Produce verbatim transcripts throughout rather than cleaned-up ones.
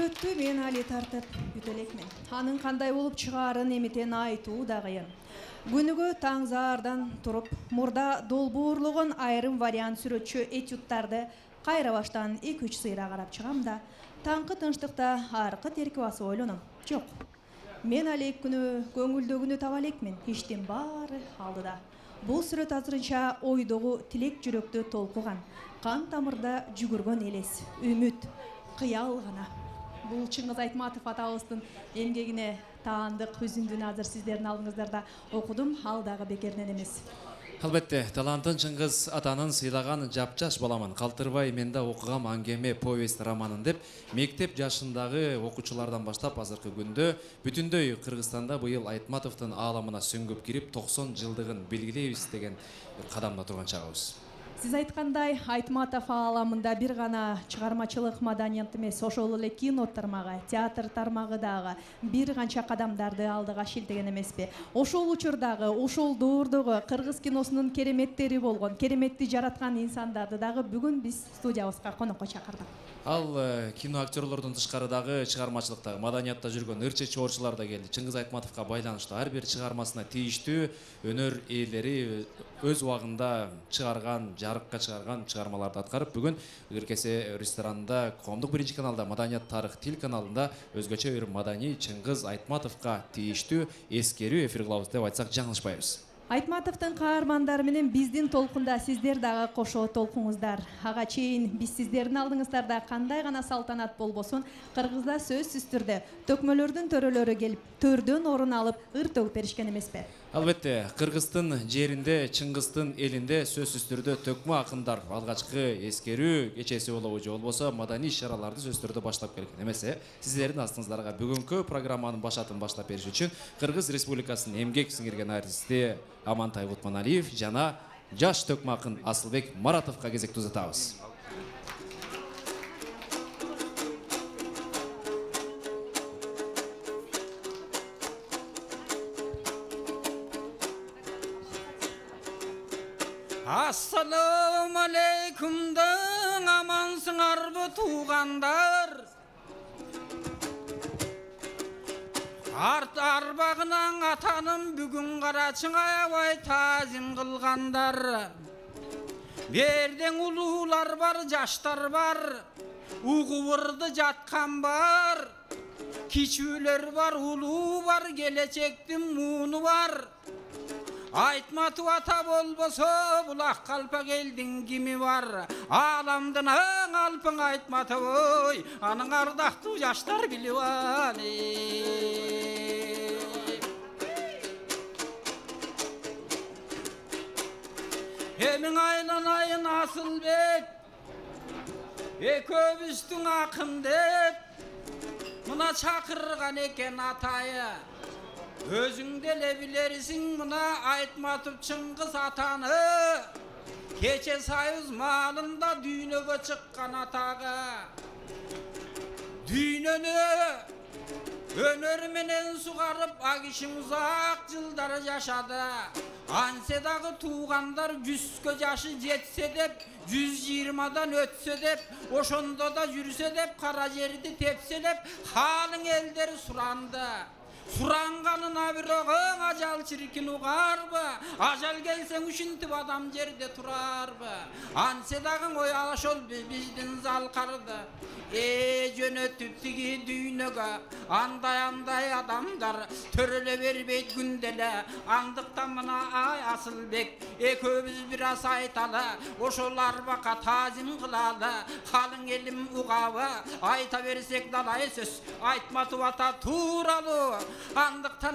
сүрөттү мен али тартып бүтө элекмин. Анын кандай болуп чыгаарын эмитен айтуу да кыйын. Күнүгө таң заардан туруп, мурда долбоорлогон айрым вариант сүрөтчү этюдтарды кайра баштан эки үч сыйра карап чыгам да, таңкы тынчтыкта аркы терки басып ойлоном. Жок. Мен алек күнү көңүлдөгүнү таба элекмин. Иштин баары алдыда. Бул сүрөт азырынча ойдогу тилек жүрөктү толкуган, кан тамырда жүгүргөн элес, үмүт, кыял гана. Бул Чыңгыз Айтматов атабыздын эмгегине таандык үзүндүнү азыр сиздердин алдыңыздарда окудум, ал дагы бекерден эмес. Албетте, талантын Чыңгыз атанын сыйлаган жапжаш баламын. Калтырбай мен да окугам аңгеме, повесть, романын деп, мектеп жашындагы окуучулардан баштап азыркы күндө бүтүндөй Кыргызстанда быйыл Айтматовдун ааламына сөңгүп кирип токсон жылдыгын белгилейбиз деген кадамда турган чагыбыз. Сиз айткандай, Айтматов ааламында бир гана чыгармачылык маданият эмес, ошол эле кино тармагы, театр тармагы дагы бир канча кадамдарды алдыга шилтеген эмеспи? Ошол учурдагы, ошол доордогу кыргыз киносунун кереметтери болгон, кереметти жараткан инсандарды дагы бүгүн биз студиябызга конокко чакырдык. Ал кино актерлордун тышкарыдагы чыгармачылыкта, маданиятта жүргөн ырчы чоорчулар да келди. Чыңгыз Айтматовго байланыштуу ар бир чыгармасына тийиштүү өнөр ээлери өз убагында чыгарган, жарыкка чыгарган чыгармаларды аткарып, бүгүн Ыркесе ресторанында Коомдук биринчи каналда Маданият тарых тил каналында өзгөчө бир маданий Чыңгыз Айтматовго тийиштүү эскерүү эфир кылабыз деп айтсак жаңылышпайбыз. Айтматовдун каармандары менен биздин толкунда сиздер дагы кошо толкуңуздар. Ага чейин биз сиздердин алдыңыздарда кандай гана салтанат болбосун, Кыргызда сөзсүз түрдө төкмөлөрдүн төрөлөрү келип, төрдөн орун алып, ыр төгүп беришкен эмеспи? Албетте, Кыргыздын жеринде, Чыңгыздын элинде сөзсүз түрдө төкмө акындар алгачкы эскерүү кечеси болобу же болбосо маданий иш-чараларды сөзсүз түрдө баштап келген эмес. Сиздердин астыңыздарга бүгүнкү программанын башатын баштап бериш үчүн Кыргыз Республикасынын эмгек сиңирген артисти Амантай Бутманалиев жана жаш төкмө акын Асылбек Маратовго кезекти узатабыз. Ассаламу алейкум даң, амансыңарбы туугандар? Арт арбагынан атаным бүгүн карачың аябай таазим кылгандар. Берден улуулар бар, жаштар бар, угубурду жаткан бар. Кичүүлөр бар, улуу бар, келечектин мууну бар. Айтматов ата болбосо булак калпак элдин кими бар? Ааламдын аң алпың Айтматов ой, анын ардактуу жаштар билип ал. Эмиң айланайын Асылбек, экөөбүздүн акын деп мына чакырган экен атайы. Өзүң деле билерсиң мына Айтматов Чыңгыз атаны, кече Союз маалында дүйнөгө чыккан атагы. Дүйнөнү өнөр менен сугарып ак ишин узак жылдар жашады. Ансе дагы туугандар жүзгө жашы жетсе деп, жүз жыйырмадан өтсө деп, ошондо да жүрсө деп, кара жерди тепсе деп, халың элдер суранды. Суранганына бирок ажал чиркин угарбы? Ажал келсең ушинтип адам жерде турарбы? Ансе дагы ой ошол биздин залкарды. Э жөнөтүп тиги дүйнөгө андай-андай адамдар төрөлө бербейт күнделе. Андыктан мына ай Асылбек экөөбүз бир аз айталы, ошол арбакка таазим кылалы, калың элим угабы, айта берсек далай сөз Айтматов ата тууралуу. Андыктан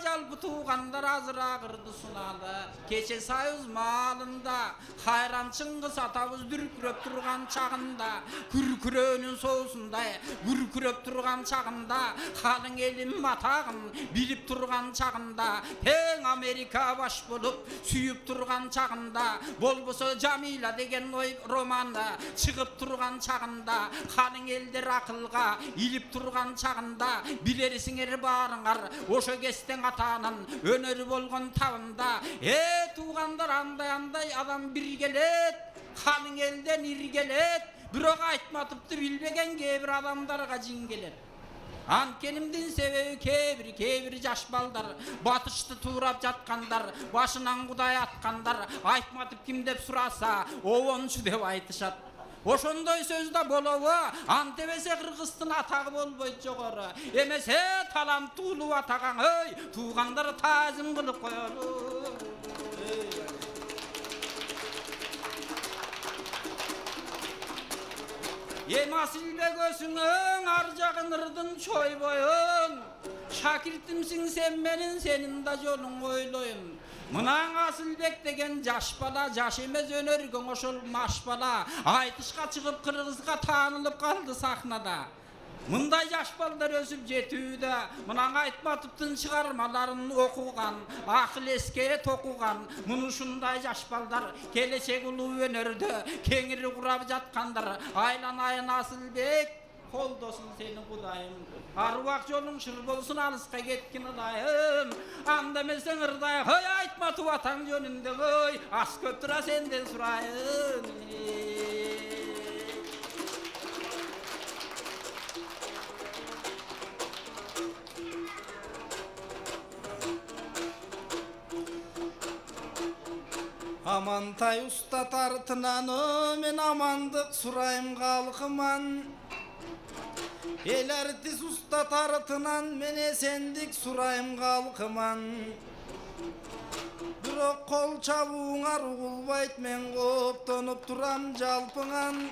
жалпы туугандар азыраак ырды суналы. Кече Союз маалында Кайран Чыңгыз атабыз дүркүрөп турган чагында, күркүрөөнүн соусундай күркүрөп турган чагында, калың элим атагын билип турган чагында, тең Америка баш болуп сүйүп турган чагында, болбосо Жамила деген ой романы чыгып турган чагында, калың элдер акылга илип турган чагында, билерсиңер баарыңар ошо кестен атанын өнөрү болгон табында. Э туугандар андай-андай адам бир келет, калың элден ир келет, Бирок Айтматовду билбеген кээ бир адамдарга жин келет. Анткенимдин себеби кээ бир кээ бир жаш балдар батышты туурап жаткандар, башынан Кудай аткандар Айтматов ким деп сураса, обончу деп айтышат. Ошондой сөз да болобу? Антебесе Кыргыздын атагы болбойт жогору. Эмесе таланттуулуу атаган, ой, туугандар таазим кылып коелу. Эми Асылбек өзүңөң ар жагын ырдын чойбойун. Шакиртимсиң сен менин, сенин да жолуң ойлойм. Мынан Асылбек деген жаш бала, жаш эмес өнөргө ошол маш бала айтышка чыгып Кыргызга таанылып калды сахнада. Мындай жаш балдар өсүп жетүүдө, мынан Айтматовдун чыгармаларын окуган, акыл эске токуган, муну ушундай жаш балдар келечек улуу өнөрдө кеңири курап жаткандар. Айланайын Асылбек, колдосун сени Кудайым. Аруак жолуң шыр болсун, алыска кеткин Кудайым. Анда эмесең ырдай, ой Айтматов атаң жөнүндө, ой ас көп тура сенден сурайын. Амантай уста тартынан мен амандык сурайым калкыман. Эл артист уста тартынан мен эсендик сурайым калкыман. Бирок кол чабууңар угулбайт, мен кооптонуп турам жалпыңан.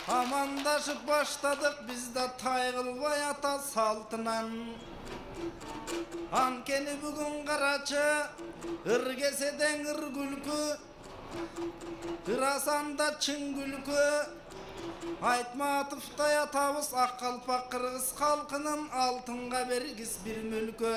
Амандашып баштадык биз да тай кылбай ата салтынан. Анткени бүгүн карачы ыргеседен ыр күлкү, ырасанда чын күлкү. Айтматовдай атабыз ак калпак кыргыз калкынын алтынга бергис бир мүлкү.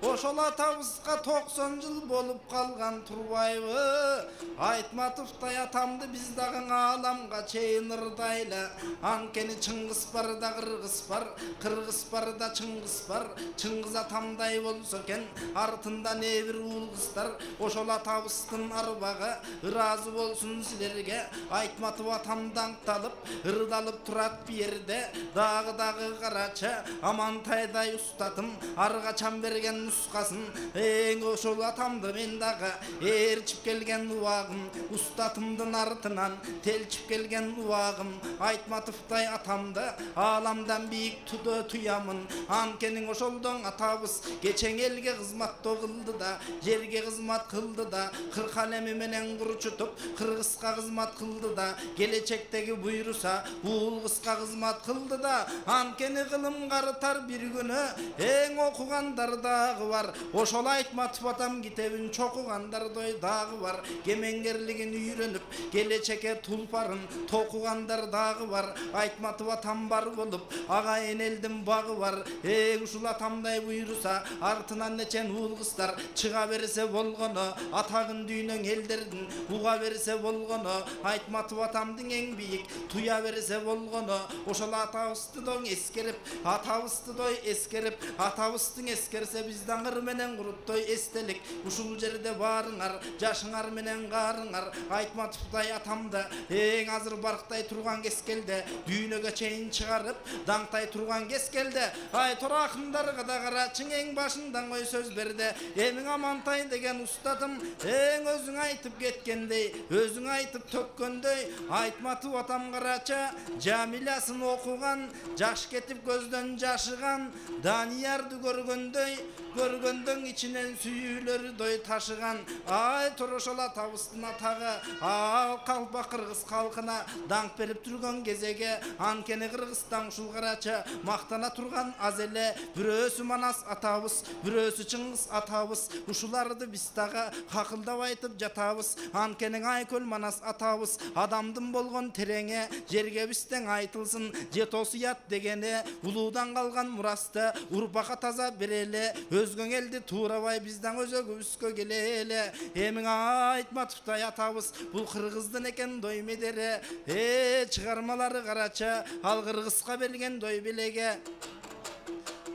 Ошол атабызга токсон жыл болуп калган турбайбы? Айтматовдай атамды биз дагы ааламга чейин ырдайлы. Анткени Чыңгыз бар да Кыргыз бар, Кыргыз бар да Чыңгыз бар. Чыңгыз атамдай болсо экен артында не бир уул кыздар. Ошол атабыздын арбагы ыраазы болсун силерге. Айтматов атамдан талып ырдалып турат бир жерде, дагы дагы карачы Амантайдай устатым ар качан берген нускасын. Эң ошол атамды мен дагы ээрчип келген убагым, устатымдын артынан телчип келген убагым. Айтматовдай атамды ааламдан бийик тудо туямын. Анткени ошолдон атабыз кечең элге кызматтоо кылды да, жерге кызмат кылды да, кырк алеми менен курчутуп Кыргызга кызмат кылды да, келечектеги буйруса уул кызга кызмат кылды да. Анткени кылым карытар бир күнү эң окугандар дагы бар. Ошол Айтматов атам китебин чокугандардой дагы бар. Кемеңгерлигин үйрөнүп келечекке тулпарын токугандар дагы бар. Айтматов атам бар болуп ага энелдин багы бар. Эң ушул атамдай буйруса артынан нечен уул кыздар чыга берсе болгону, атагын дүйнөң элдердин уга берсе болгону. Айтматов атамдын эң бийик туя берсе болгону. Ошол атабызды доң эскерип, атабызды дой эскерип, атабыздын эскерсе бизден ыр менен куруттой эстелик. Ушул жерде баарыңар жашыңар менен каарыңар Айтматовдай атамды эң азыр барктай турган кескелде, дүйнөгө чейин чыгарып даңтай турган кескелде. Ай тора акындарга да карачың, эң башындан кой сөз берди. Эмиң Амантай деген устатым эң өзүң айтып кеткендей, өзүң айтып төккөндөй. Айтматов атам карачы Жамилясын окуган, жаш кетип көздөн жашыган. Даниярды көргөндөй, көргөндөн ичинен сүйүүлөрдөй ташыган. Ай тура ошол атабыздын атагы ал калпак кыргыз калкына даңк берип турган кезеге. Анткени Кыргызстан ушул карачы мактана турган аз эле. Бирөөсү Манас атабыз, бирөөсү Чыңгыз атабыз. Ушуларды биз дагы какылдап айтып жатабыз. Анткени Айкөл Манас атабыз адамдын болгон тереңе жерге бизден айтылсын. Жетосуят дегени улуудан калган мурасты урпакка таза берели. Өзгөң элди туурабай бизден өзөгүбүзгө келели. Эмиң Айтматовдай атабыз бул кыргыздын экен дой медери. Э чыгармалары карачы ал Кыргызга берген дой белеге.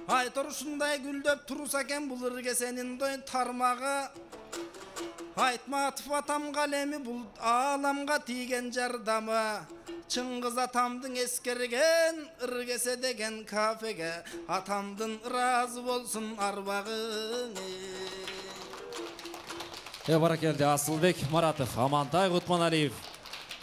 Айтор ушундай гүлдөп турса экен бул ыргесенин дой тармагы. Айтматов атам калеми бул ааламга тийген жардамы. Чыңгыз атамдың эскерген ыргесе деген кафеге атамдын ыраазы болсун арбагың. Э баракелди Асылбек Маратов, Амантай Кутманалиев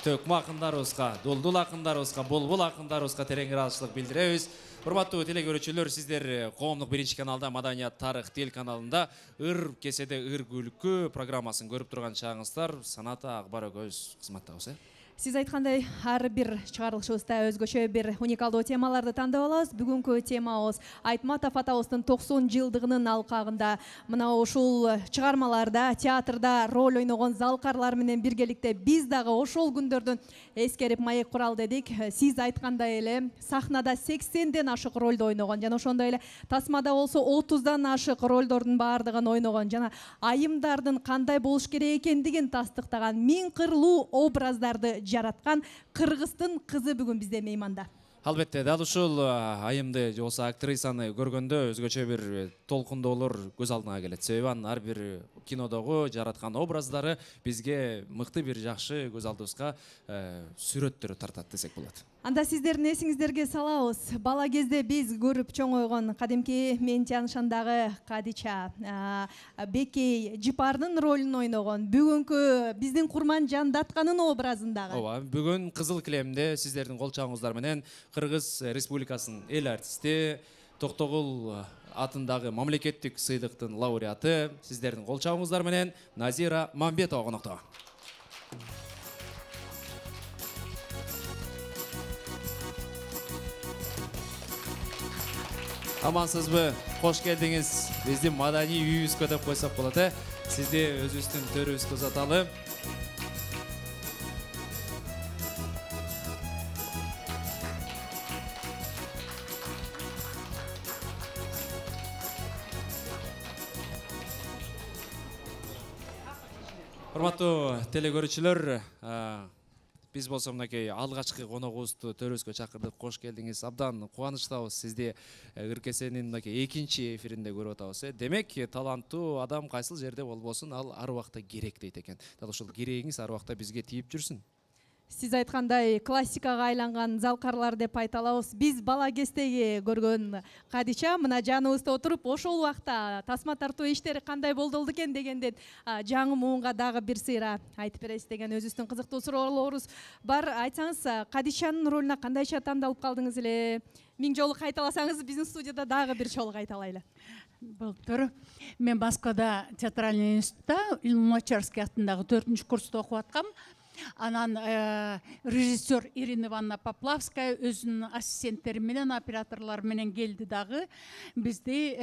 төкмө акындарыбызга, дулдул акындарыбызга, булбул акындарыбызга терең ыраазычылык билдиребиз. Урматтуу телекөрүүчүлөр, сиздер коомдук биринчи каналда Маданият Тарых телеканалында ыр кеседе ыр күлкү программасын көрүп турган чагыңыздар. Саната Акбар өгөз кызматтабыз. Сиз айткандай, ар бир чыгарылышыбызда өзгөчө бир уникалдуу темаларды тандап алабыз. Бүгүнкү темабыз Айтматов атабыздын токсон жылдыгынын алкагында мына ушул чыгармаларда, театрда роль ойногон залкарлар менен биргеликте биз дагы ошол күндөрдөн эскерип маек курал дедик. Сиз айткандай эле сахнада сексенден ашык ролду ойногон жана ошондой эле тасмада болсо отуздан ашык ролдордун баардыгын ойногон жана айымдардын кандай болуш керек экендигин тастыктаган миң кырлуу образдарды жараткан кыргыздын кызы бүгүн бизде мейманда. Албетте, дал ушул айымды же болсо актрисаны көргөндө өзгөчө бир толкундоолор көз алдыңа келет. Себеби анын ар бир кинодогу жараткан образдары бизге мыкты бир жакшы көз алдыбызга сүрөттөрү тартат десек болот. Анда сиздердин эсиңиздерге салабыз. Бала кезде биз көрүп чоңойгон кадимки Мен Тяншандагы Кадича, Бекей, Жипардын ролун ойногон, бүгүнкү биздин Курман Жандатканын образындагы. Ооба, бүгүн Кызыл килемде сиздердин кол чабыңыздар менен Кыргыз Республикасынын эл артисти, Токтогул атындагы мамлекеттик сыйдыктын лауреаты, сиздердин кол чабыңыздар менен Назира Мамбетова конокто. Амансызбы? Кош келдиңиз. Биздин маданий үйүбүзгө деп койсок болот, э? Сизди өзүбүздүн төрүбүзгө узаталы. Урматтуу телекөрүүчүлөр, биз болсо мынакей алгачкы коногубузду төрүбүзгө чакырдык. Кош келдиңиз. Абдан кубанычтабыз сизди ыр кесенин мынакей экинчи эфиринде көрүп атабыз. Демек, таланттуу адам кайсыл жерде болбосун, ал ар убакта керек дейт экен. Дал ушул керегиңиз ар убакта бизге тийип жүрсүн. Сиз айткандай классикага айланган залкарлар деп айта алабыз. Биз бала кездеги көргөн Кадича мына жаныбызда отуруп, ошол убакта тасма тартуу иштери кандай болду экен дегенден жаңы муунга дагы бир сыйра айтып бересиз деген өзүбүздүн кызыктуу суроолорубуз бар. Айтсаңыз, Кадичанын ролуна кандайча тандалып калдыңыз эле? Миң жолу кайталасаңыз, биздин студияда дагы бир жолу кайталайлы. Былтыр мен Москвада театральный институтта Луначарский атындагы төртүнчү курста окуп аткам. Анан режиссер Ирина Ивановна Поплавская өзүнүн ассистенттери менен, операторлор менен келди дагы бизди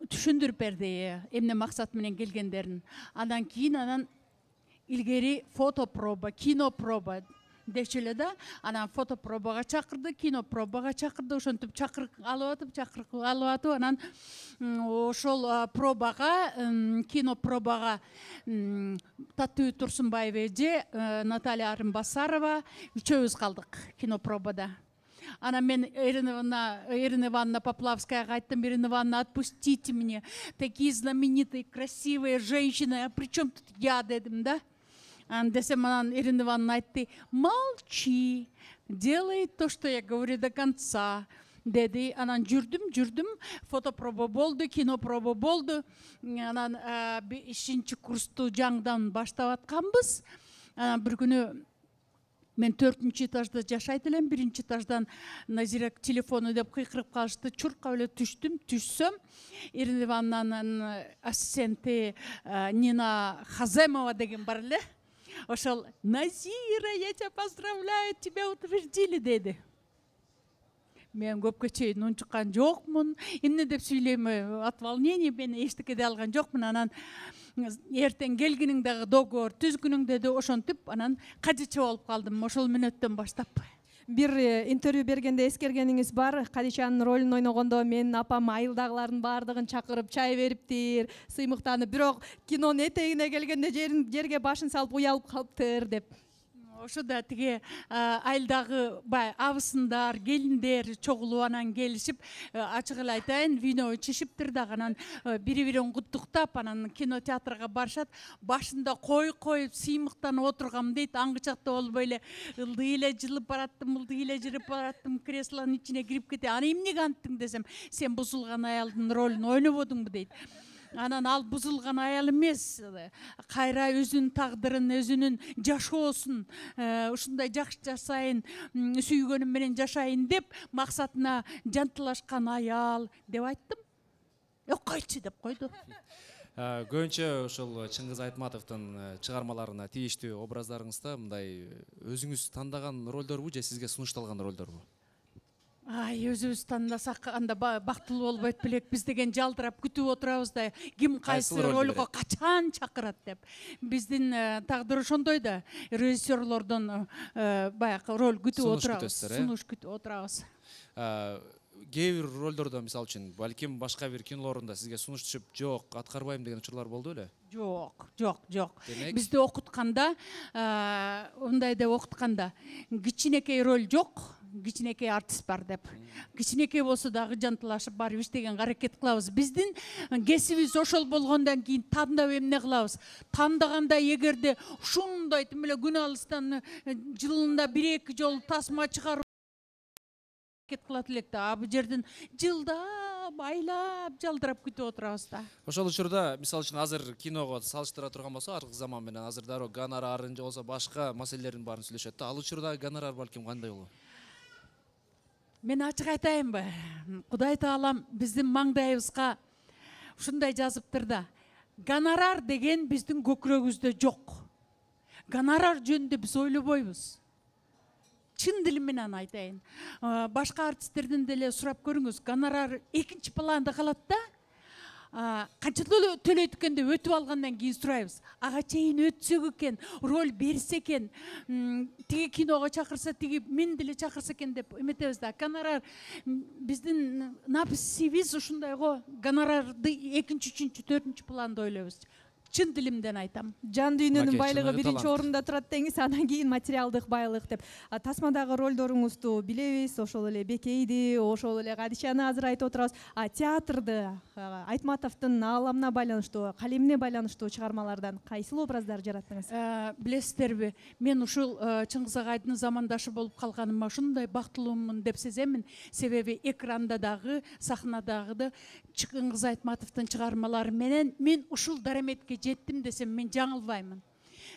түшүндүрүп берди эмне максат менен келгендерин. Андан кийин анан илгери фотопроба, кинопроба дечү эле да. Анан фотопробага чакырды, кинопробага чакырды, ошентип чакырык алып атып, чакырык алып атып, анан ошол пробага, кинопробага Татуу Турсунбаева эже, Наталья Арымбасарова үчөөбүз калдык кинопробада. Анан мен Ирина Ивановна Поплавскаяга айттым: Ирина Ивановна, отпустите меня, такие знаменитые, красивые женщины, а при чем тут я, дедим, да? Десем, анан Ирина Ивановна айтты: молчи, делай то, что я говорю, до конца. Деди. Анан жүрдүм, жүрдүм, фотопроба болду, кинопроба болду. Анан бешинчи курсту жаңдан баштап атканбыз. Анан бир күнү мен төртүнчү этажда жашайт элем, биринчи этаждан Назира телефону деп кыйкырып калышты. Чуркап эле түштүм, түшсөм Ирина Ивановнанын ассистенти Нина Хаземова деген бар эле. Ошол: Назира, я тебя поздравляю, тебя утвердили, деди. Мен көпкө чейин унчуккан жокмун, эмне деп сүйлөйм, от волнения мен эчтеке де алган жокмун. Анан эртең келгениң дагы договор түзгүнүң деди. Ошентип анан Кадича болуп калдым ошол мүнөттөн баштап. Бир интервью бергенде эскергениңиз бар, Кадичанын ролун ойногондо мен апам айылдагылардын баардыгын чакырып чай бериптир, сыймыктанып, бирок кинонун этегине келгенде жерге башын салып уялып калыптыр деп. ошода тиги айылдагы бай абысындар, келиндер чогулуп анан келишип, ачык эле айтайын, вино ичишиптир дагы, анан бири-бирин куттуктап, анан кинотеатрга барышат. Башында кой коюп, сыймыктан отургам дейт. Аңгычакта болбой эле ылдый эле жылып бараттым, ылдый эле жүрүп бараттым, креслонун ичине кирип кете. Аны эмнеге анттың десем, сен бузулган аялдын ролун ойнободуңбу дейт. Анан ал бузулган аял эмес, кайра өзүнүн тагдырын, өзүнүн жашоосун ушундай жакшы жашайын, сүйгөнүм менен жашайын деп максатына жантылашкан аял деп айттым. Ок койчу деп койду. Көбүнчө ошол Чыңгыз Айтматовдун чыгармаларына тийиштүү образдарыңызда мындай өзүңүз тандаган ролдорбу же сизге сунушталган ролдорбу? Ай, өзүбүз тандасак анда бактылуу болбойт белек. Биз деген жалдырап күтүп отурабыз да, ким кайсы ролго качан чакырат деп. Биздин тагдыр ошондой да. Режиссерлордон баягы роль күтүп отурабыз, сунуш күтүп отурабыз. Кээ бир ролдордо, мисалы үчүн, балким башка бир кинолорунда сизге сунуш түшүп, жок, аткарбайм деген учурлар болду беле? Жок, жок, жок. Бизди окутканда, мындай деп окутканда, кичинекей роль жок, кичинекей артист бар деп. Кичинекей болсо дагы жантылашып барып иштегенге аракет кылабыз. Биздин кесибибиз ошол болгондон кийин тандап эмне кылабыз? Тандаганда эгерде ушундай тим эле күн алыстан жылында бир-эки жолу тасма чыгарып аракет кылат элек да, бул жерден жылдап, айлап, жалдырап күтүп отурабыз да. Ошол учурда, мисалы үчүн, азыр киного салыштыра турган болсо, аркы заман менен азыр дароо гонорарын же болсо башка маселелердин баарын сүйлөшөт да. Ал учурдагы гонорар балким кандай болот? Мен ачык айтайынбы? Кудай таалам биздин маңдайыбызга ушундай жазыптыр да. Гонорар деген биздин көкүрөгүбүздө жок. Гонорар жөнүндө биз ойлобойбуз. Чын дилим менен айтайын. Башка артисттерден деле сурап көрүңүз, гонорар экинчи планда калат да. Канча төлөйт экен деп өтүп алгандан кийин сурайбыз. Ага чейин өтсөк экен, роль берсе экен, тиги киного чакырса, тиги мен деле чакырса экен деп эметебиз да. Гонорар биздин написибиз ушундай го. Гонорарды экинчи, үчүнчү, төртүнчү планда ойлойбуз. Чын дилимден айтам. Жан дүйнөнүн байлыгы биринчи орунда турат деңиз, андан кийин материалдык байлык деп. Тасмадагы ролдоруңузду билебиз, ошол эле Бекейди, ошол эле Кадичаны азыр айтып отурабыз. А театрды Айтматовдун ааламына байланыштуу, калемине байланыштуу чыгармалардан кайсыл образдар жараттыңыз? Билесиздерби, мен ушул Чыңгыз агайдын замандашы болуп калганыма ушундай бактылуумун деп сеземин. Себеби экранда дагы, сахнадагы Чыңгыз Айтматовдун чыгармалары менен мен ушул дараметке жеттим десем мен жаңылбаймын.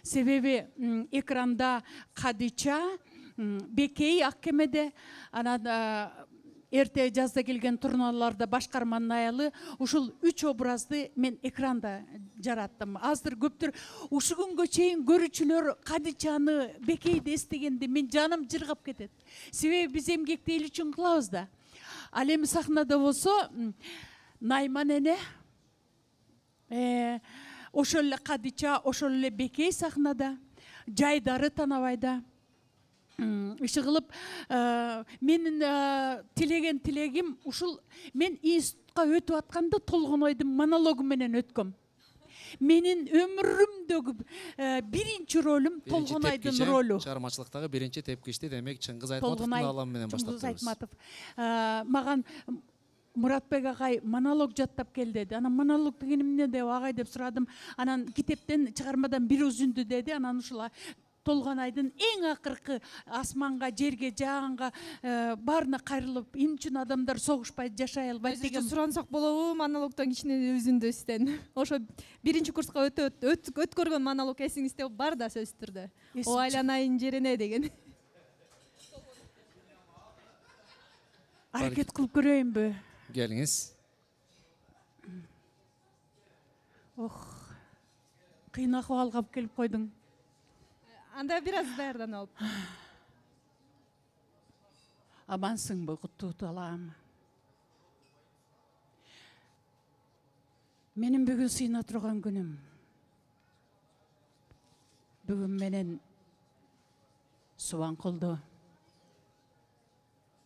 Себеби экранда Кадича, Бекей ак кемеде, анан эрте жазда келген турналарда башкарманын аялы, ушул үч образды мен экранда жараттым. Аздыр көптүр ушу күнгө чейин көрүүчүлөр Кадичаны, Бекейди эстегенде мен жаным жыргап кетет. Себеби биз эмгекти эл үчүн кылабыз да. Ал эми сахнада болсо Найман эне, ошол эле Кадича, ошол эле Бекей сахнада, Жайдары Танабайда. Иши кылып, менин тилеген тилегим ушул мен институтка өтүп атканда Толгонойдун монологу менен өткөм. Менин өмүрүмдөгү биринчи ролум Толгонойдун ролу. Чыгармачылыктагы биринчи тепкичти демек Чыңгыз Айтматовдун ааламы менен баштап Чыңгыз Айтматов. Маган Муратбек агай монолог жаттап кел деди. Анан монолог деген эмне деп агай деп сурадым. Анан китептен, чыгармадан бир үзүндү деди. Анан ушул Толгонайдын эң акыркы асманга, жерге, жаганга баарына кайрылып, эмне үчүн адамдар согушпай жашай албайт деген сурансак болобу монологдон кичине үзүндүстөн. Ошо биринчи курска өткөргөн монолог эсиңизде бар да сөзсүз түрдө. О айланайын жерине деген. Аракет кылып көрөйүнбү? Келиңиз. Ох, кыйын акыбалга алып келип койдуң. Анда бир аз даярданып алып. Амансыңбы, куттуу талаам. Менин бүгүн сыйына турган күнүм. Бүгүн менен Субанкулду,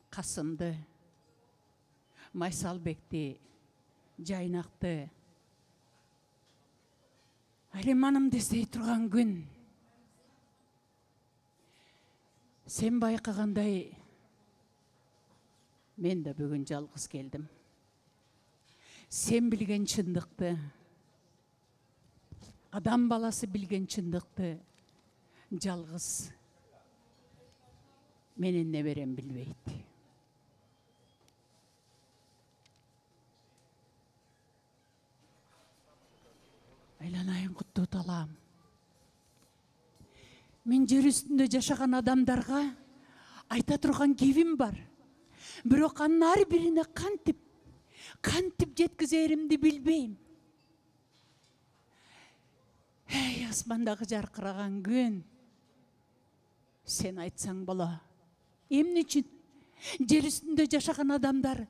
Касымды, Майсалбекти, Жайнакты, Алиманымды эстей турган күн. Сен байкагандай мен да бүгүн жалгыз келдим. Сен билген чындыкты, адам баласы билген чындыкты жалгыз менин неберем билбейт. Айланайын куттуу талаам. Мен жер үстүндө жашаган адамдарга айта турган кебим бар. Бирок анын ар бирине кантип, кантип жеткизеримди билбейм. Эй, асмандагы жаркыраган күн. Сен айтсаң боло. Эмне үчүн жер үстүндө жашаган адамдар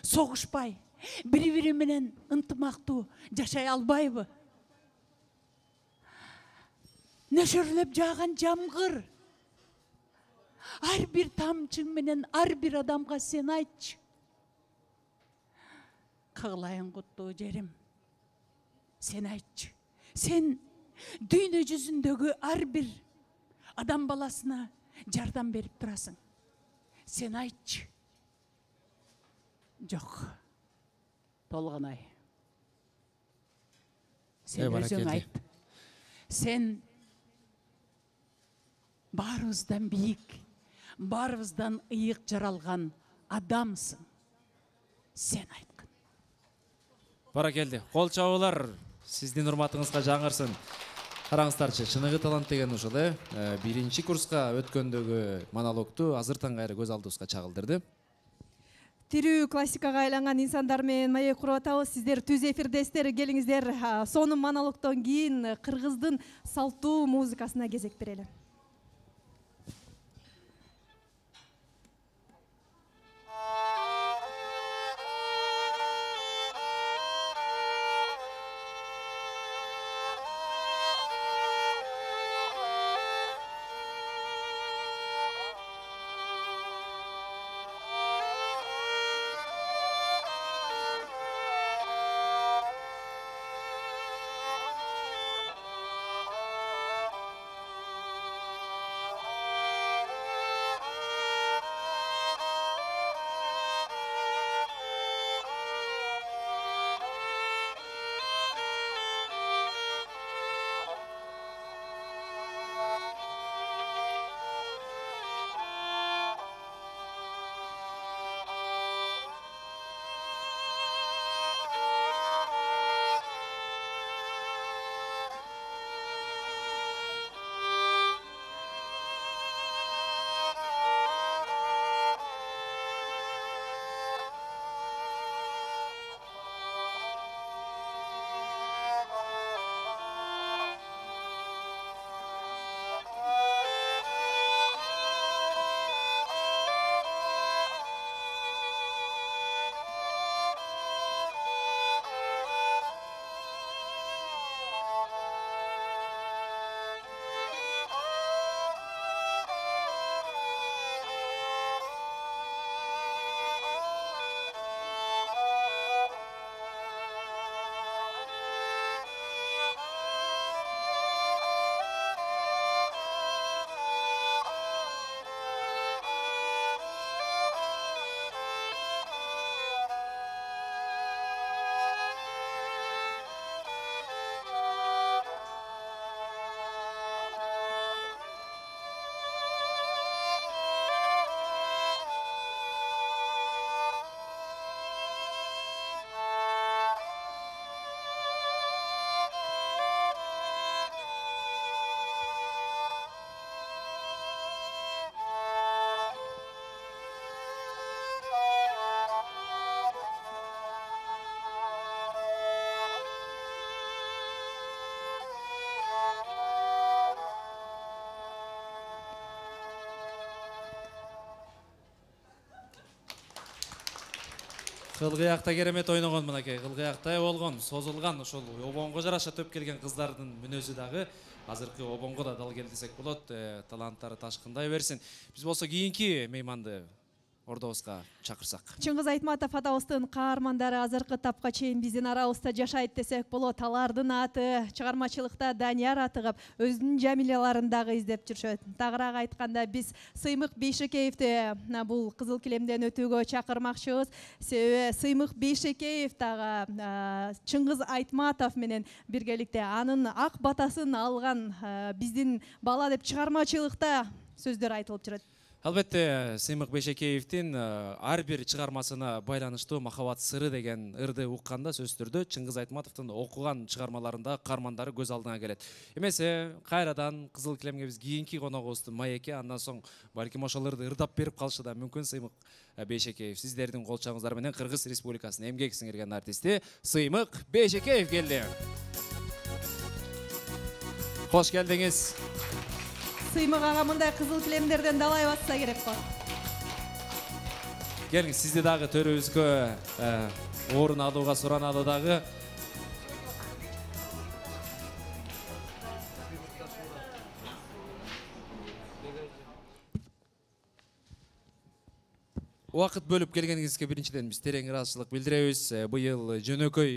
согушпай, бири-бири менен ынтымактуу жашай албайбы? Нөшөрлөп жааган жамгыр. Ар бир тамчың менен ар бир адамга сен айтчы. Кыглайын куттуу жерим. Сен айтчы. Сен дүйнө жүзүндөгү ар бир адам баласына жардам берип турасың. Сен айтчы. Жок. Толгонай. Сен өзүң айт. Сен баарыбыздан бийик, баарыбыздан ыйык жаралган адамсың. Сен айткын. Баракелди. Кол чабуулар сиздин урматыңызга жаңырсын. Караңыздарчы, чыныгы талант деген ушул э. Биринчи курска өткөндөгү монологду азыртан кайра көз алдыбызга чагылдырды. Тирүү классикага айланган инсандар менен маек куруп атабыз. Сиздер түз эфирдесиздер, келиңиздер. Сонун монологдон кийин кыргыздын салттуу музыкасына кезек берели. Кылгыякта керемет ойногон мынакей. Кылгыяктай болгон, созулган, ошол обонго жараша төп келген кыздардын мүнөзү дагы азыркы обонго да дал кел десек болот. Таланттары ташкындай берсин. Биз болсо кийинки мейманды ордобузга чакырсак. Чыңгыз Айтматов атабыздын каармандары азыркы тапка чейин биздин арабызда жашайт десек болот. Алардын аты чыгармачылыкта Данияр атыгып, өзүнүн жамиляларын дагы издеп жүрүшөт. Тагыраак айтканда биз Сыймык Бейшекеевди бул кызыл килемден өтүүгө чакырмакчыбыз. Себеби Сыймык Бейшекеев дагы Чыңгыз Айтматов менен биргеликте анын ак батасын алган биздин бала деп чыгармачылыкта сөздөр айтылып жүрөт. Албетте, Сыймык Бейшекеевдин ар бир чыгармасына байланыштуу Махабат сыры деген ырды укканда сөзсүз түрдө Чыңгыз Айтматовдун окуган чыгармаларында каармандары көз алдыңа келет. Эмесе, кайрадан кызыл килемге биз кийинки коногубуздун маекке, андан соң балким ошол ырды ырдап берип калышы да мүмкүн. Сыймык Бейшекеев, сиздердин кол чаңыңыздар менен Кыргыз Республикасынын эмгек сиңирген артисти Сыймык Бейшекеев келди. Кош келдиңиз. Сыймык ага мындай кызыл килемдерден далай батса керек го. Келиңиз, сизди дагы төрүбүзгө орун алууга суранады дагы. Убакыт бөлүп келгениңизге биринчиден биз терең ыраазычылык билдиребиз. Быйыл жөнөкөй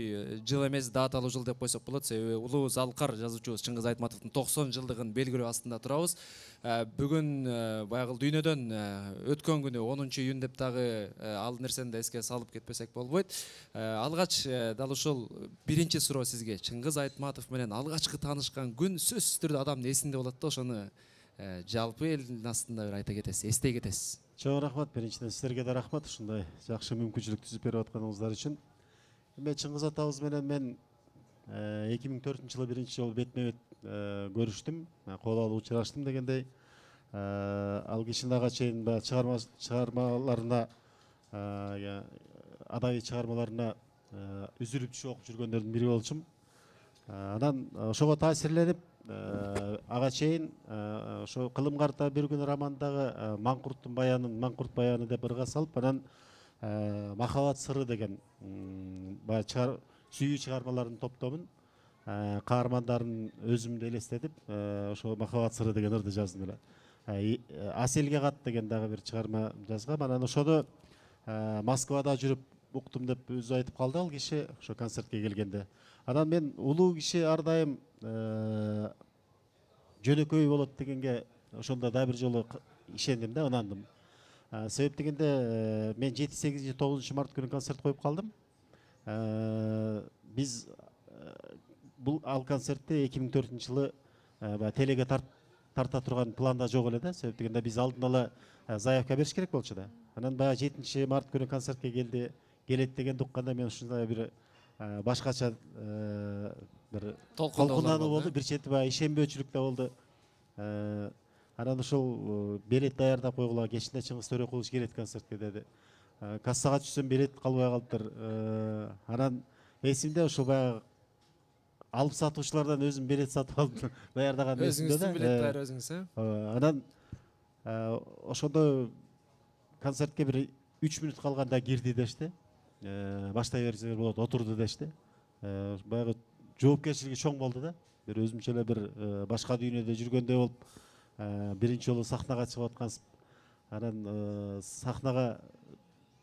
жыл эмес, даталуу жыл деп койсок болот. Себеби улуу залкар жазуучубуз Чыңгыз Айтматовдун токсон жылдыгын белгилөө астында турабыз. Бүгүн баягы дүйнөдөн өткөн күнү онунчу июнь деп дагы ал нерсени да эске салып кетпесек болбойт. Алгач дал ушул биринчи суроо сизге. Чыңгыз Айтматов менен алгачкы таанышкан күн сөзсүз түрдө адамдын эсинде болот да, ошону жалпы элдин астында бир айта кетесиз, эстей кетесиз. Чоң рахмат, биринчиден сиздерге да рахмат ушундай жакшы мүмкүнчүлүк түзүп берип атканыңыздар үчүн. Эми Чыңгыз атабыз менен мен эки миң төртүнчү жылы биринчи жолу бетме бет көрүштүм, кол алып учураштым дегендей. Ал кишинин ага чейин чыгармаларына, адабий чыгармаларына үзүлүп түшүп окуп жүргөндөрдүн бири болчумун. Анан ошого таасирленип ага чейин ошо кылым карта бир күн романдагы Маңкурттун баянын Маңкурт баяны деп ырга салып, анан Махабат сыры деген баягы сүйүү чыгармалардын топтомун каармандарын өзүмдү элестетип, ошо Махабат сыры деген ырды жаздым эле. Аселге кат деген дагы бир чыгарма жазгам. Анан ошону Москвада жүрүп уктум деп өзү айтып калды ал киши ошо концертке келгенде. Анан мен улуу киши ар дайым жөнөкөй болот дегенге ошондо да бир жолу ишендим да, ынандым. Себеп дегенде мен жети сегизинчи тогузунчу март күнү концерт коюп калдым. Биз бул ал концертти эки миң төртүнчү жылы баягы телеге тарта турган планда жок эле да. Себеп дегенде биз алдын ала заявка бериш керек болчу да. Анан баягы жетинчи март күнү концертке келди, келет дегенди укканда мен ушундай бир башкача бир толкундануу болду, бир чети баягы ишенбөөчүлүк да болду. Анан ошол билет даярдап койгула, кечинде Чыңгыз Төрөкулович келет концертке деди. Кассага түшсөм билет калбай калыптыр. Анан эсимде ошол баягы алып сатуучулардан өзүм билет сатып алып даярдаган эсимде да. Өзүңүздүн билет даяр өзүңүз, э? Анан ошондо концертке бир үч мүнөт калганда кирди дешти. Баштай берсеңер болот, отурду дешти. Баягы жоопкерчилиги чоң болду да. Бир өзүмчө эле бир башка дүйнөдө жүргөндөй болуп, биринчи жолу сахнага чыгып аткансып. Анан сахнага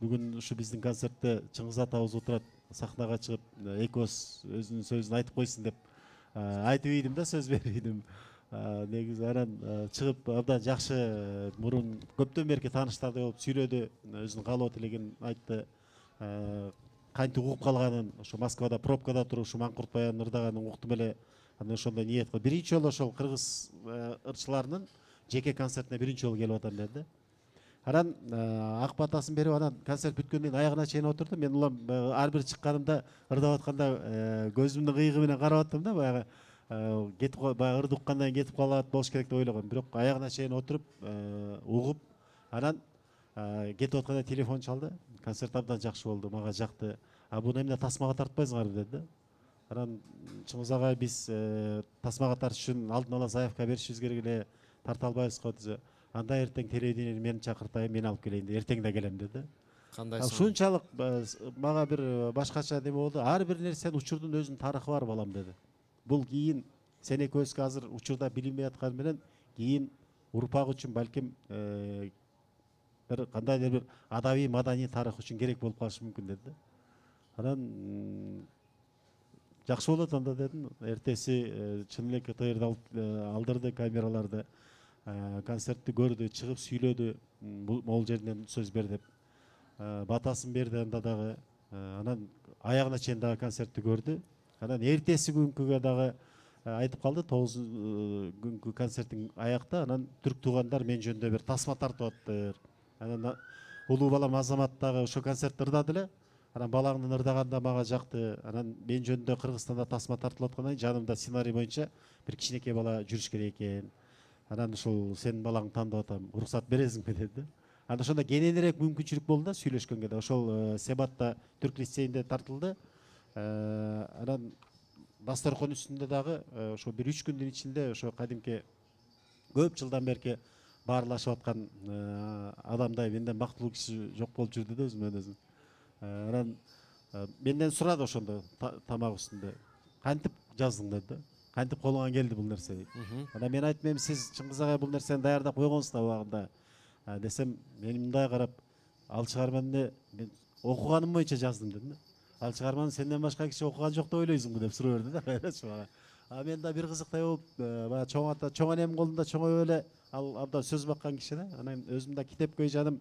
бүгүн ушу биздин концертте Чыңгыз атабыз отурат, сахнага чыгып экөөбүз өзүнүн сөзүн айтып койсун деп айтып ийдим да, сөз берип ийдим. Негизи анан чыгып абдан жакшы, мурун көптөн берки тааныштардай болуп сүйлөдү, өзүнүн каалоо тилегин айтты. Кантип угуп калганын, ошо Москвада пробкада туруп ушу Маңкурт баянын ырдаганын уктум эле. Анан ошондой ниет кылып биринчи жолу ошол кыргыз ырчыларынын жеке концертине биринчи жолу келип атам деди. Анан ак батасын берип, анан концерт бүткөндөн кийин аягына чейин отурду. Мен улам ар бир чыкканымда ырдап атканда көзүмдүн кыйыгы менен карап аттым да, баягы кетип баягы ырды уккандан кийин кетип калат болуш керек деп ойлогом. Бирок аягына чейин отуруп угуп, анан кетип атканда телефон чалды. Концерт абдан жакшы болду, мага жакты. А буну эмне тасмага тартпайсыңарбы деди да. Анан Чыңгыз агай, биз тасмага тартыш үчүн алдын ала заявка беришибиз керек эле, тарта албайбыз го десе. Анда эртең телевидениени мени чакыртайын, мен алып келейин, эртең да келем деди. Кандай ушунчалык мага бир башкача неме болду. Ар бир нерсенин, учурдун өзүнүн тарыхы бар балам деди. Бул кийин сен экөөбүзгө азыр учурда билинбей атканы менен кийин урпак үчүн балким бир кандайдыр бир адабий маданий тарых үчүн керек болуп калышы мүмкүн деди да. Анан жакшы болот анда дедим. Эртеси чын эле КТРди алдырды, камераларды, концертти көрдү, чыгып сүйлөдү, могул жеринен сөз бер деп. Батасын берди анда дагы. Анан аягына чейин дагы концертти көрдү. Анан эртеси күнгүгө дагы айтып калды, тогузунчу күнгү концерттин аякта анан түрк туугандар мен жөнүндө бир тасма тартып атыптыр. Анан улуу балам Азамат дагы ошо концертти ырдады эле. Анан балаңдын ырдаганда мага жакты. Анан мен жөнүндө Кыргызстанда тасма тартылып аткандан кийин жанымда сценарий боюнча бир кичинекей бала жүрүш керек экен. Анан ушул сенин балаңды тандап атам, уруксат бересиңби деди. Анан ошондо кененирээк мүмкүнчүлүк болду да сүйлөшкөнгө да. Ошол Себатта түрк лицейинде тартылды. Анан дасторкон үстүндө дагы ошо бир үч күндүн ичинде ошо кадимки көп жылдан берки баарлашып аткан адамдай менден бактылуу киши жок болуп жүрдү да өзүмөн өзүм. Анан менден сурады ошондо тамак үстүндө. Кантип жаздың деди да. Кантип колуңан келди бул нерсе дейт. Анан мен айттым, эми сиз Чыңгыз агай бул нерсени даярдап койгонсуз да убагында. Десем, мен мындай карап, ал чыгарманы мен окуганым боюнча жаздым дедим да. Ал чыгарманы сенден башка киши окуган жок деп ойлойсуңбу деп суроо берди да. А мен да бир кызыктай болуп, баягы чоң ата, чоң энемдин колунда чоңоюп эле ал абдан сөз баккан киши да. Анан өзүм да китепкөй жаным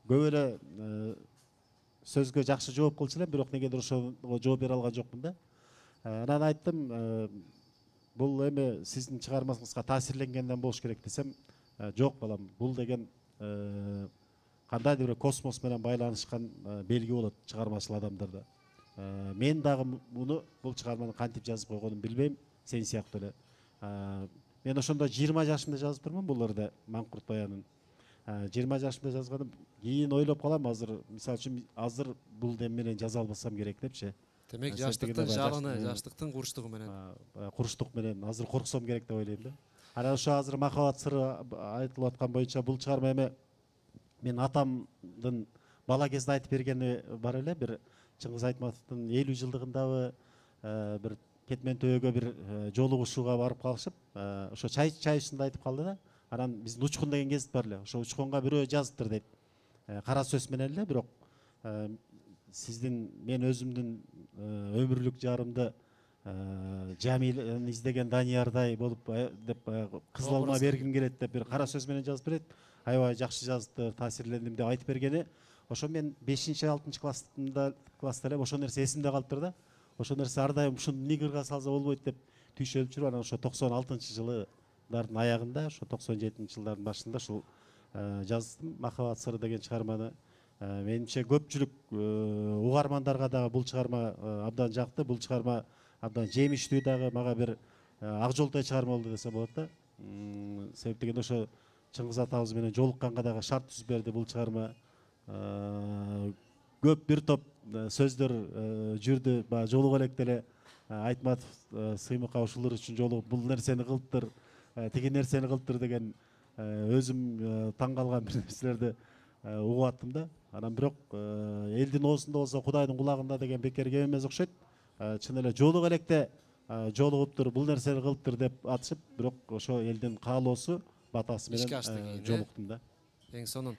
көп эле сөзгө жакшы жооп кылчу элем, бирок негедир ошого жооп бере алган жокмун да. Анан айттым, бул эми сиздин чыгармаңызга таасирленгенден болуш керек десем, жок балам, бул деген кандайдыр бир космос менен байланышкан белги болот чыгармачыл адамдарда. Мен дагы муну бул чыгарманы кантип жазып койгонумду билбейм, сен сыяктуу эле. Мен ошондо жыйырма жашымда жазыптырмын бул ырды, Маңкурт баянын. жыйырма жашымда жазганым, кийин ойлоп калам, азыр мисалы үчүн азыр бул дем менен жаза албасам керек депчи. Демек жаштыктын жалыны, жаштыктын курчтугу менен. Курчтук менен азыр корксом керек деп ойлойм да. Анан ошо азыр махабат сыры айтылып аткан боюнча бул чыгарма эми мен атамдын бала кезде айтып бергени бар эле, бир Чыңгыз Айтматовдун элүү жылдыгындабы бир Кетмен төбөгө бир жолугушууга барып калышып, ошо чай чай үстүндө айтып калды да. Анан биздин Учкун деген гезит бар эле. Ошо Учкунга бирөө жазыптыр дейт. Кара сөз менен эле, бирок сиздин мен өзүмдүн өмүрлүк жарымды Жамилни издеген Даниярдай болуп деп кызыл алма бергим келет деп бир кара сөз менен жазып берет. Аябай жакшы жазды, таасирлендим деп айтып бергени. Ошо мен бешинчи алтынчы класста класста эле ошо нерсе эсимде калыптыр да. Ошо нерсе ар дайым ушуну нигырга салса болбойт деп түйшөлүп жүрүп, анан ошо токсон алтынчы жылдардын аягында, ошо токсон жетинчи жылдардын башында ушул жаздым Махабат сыры деген чыгарманы. Менимче көпчүлүк угармандарга дагы бул чыгарма абдан жакты, бул чыгарма абдан жемиштүү дагы, мага бир ак жолтой чыгарма болду десе болот да. Себеп дегенде ошо Чыңгыз атабыз менен жолукканга дагы шарт түзүп берди бул чыгарма. Көп бир топ сөздөр жүрдү, баягы жолуга электе эле Айтматов сыймыкка ушулар үчүн жолугуп бул нерсени кылыптыр, тиги нерсени кылыптыр деген өзүм таң калган бир нерселерди угуп аттым да. Анан бирок элдин оозунда болсо Кудайдын кулагында деген бекер кеп эмес окшойт. Чын эле жолуга электе жолугуптур, бул нерсени кылыптыр деп атышып, бирок ошо элдин каалоосу батасы менен жолуктум да. Эң сонун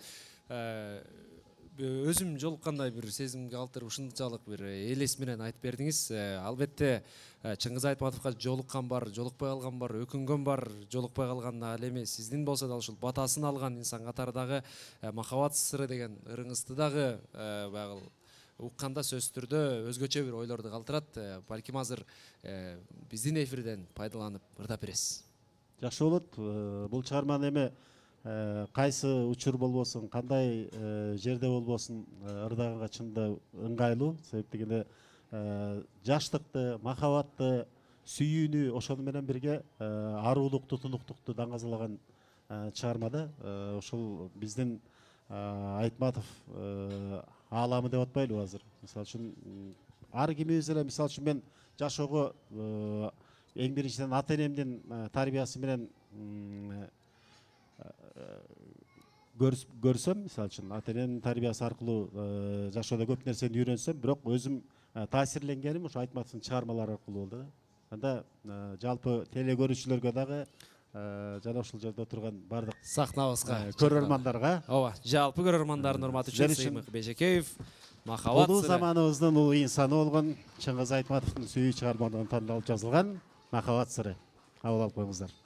өзүм жолуккандай бир сезимге калтырып ушунчалык бир элес менен айтып бердиңиз. Албетте Чыңгыз Айтматовго жолуккан бар, жолукпай калган бар, өкүнгөн бар, жолукпай калган ал эми сиздин болсо да ушул батасын алган инсан катары дагы Махабат сыры деген ырыңызды дагы баягы укканда сөзсүз түрдө өзгөчө бир ойлорду калтырат. Балким азыр биздин эфирден пайдаланып ырдап бересиз. Жакшы болот. Бул чыгарманы эми кайсы учур болбосун, кандай жерде болбосун ырдаганга чында ыңгайлуу. Себеп дегенде жаштыкты, махабатты, сүйүүнү ошону менен бирге аруулукту, тунуктукту даңазалаган чыгарма да. Ошол биздин Айтматов ааламы деп атпайлыбы азыр. Мисалы үчүн ар кимибиз эле, мисалы үчүн мен жашоого эң биринчиден ата энемдин тарбиясы менен көрсөм, мисалы үчүн ата энемдин тарбиясы аркылуу жашоодо көп нерсени үйрөнсөм, бирок өзүм таасирленгеним ошо Айтматовдун чыгармалары аркылуу болду да. Анда жалпы теле көрүүчүлөргө дагы жана ушул жерде отурган бардык сахнабызга көрөрмандарга, ооба, жалпы көрөрмандардын урматы үчүн Сыймык Бейжекеев Махаббат улуу заманыбыздын улуу инсаны болгон Чыңгыз Айтматовдун сүйүү чыгармаларынан тандалып жазылган Махаббат сыры. Кабыл алып коюңуздар.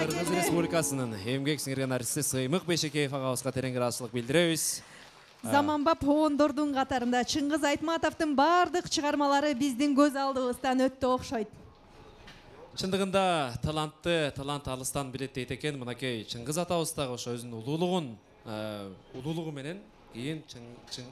Кыргыз Республикасынын эмгек сиңирген артисти Сыймык Бейшекеев агабызга терең ыраазычылык билдиребиз. Заманбап оондордун катарында Чыңгыз Айтматовдун бардык чыгармалары биздин көз алдыбыздан өттү окшойт. Чындыгында талантты, талант алыстан билет дейт экен. Мынакей Чыңгыз атабыз дагы ошо өзүнүн улуулугун, улуулугу менен кийин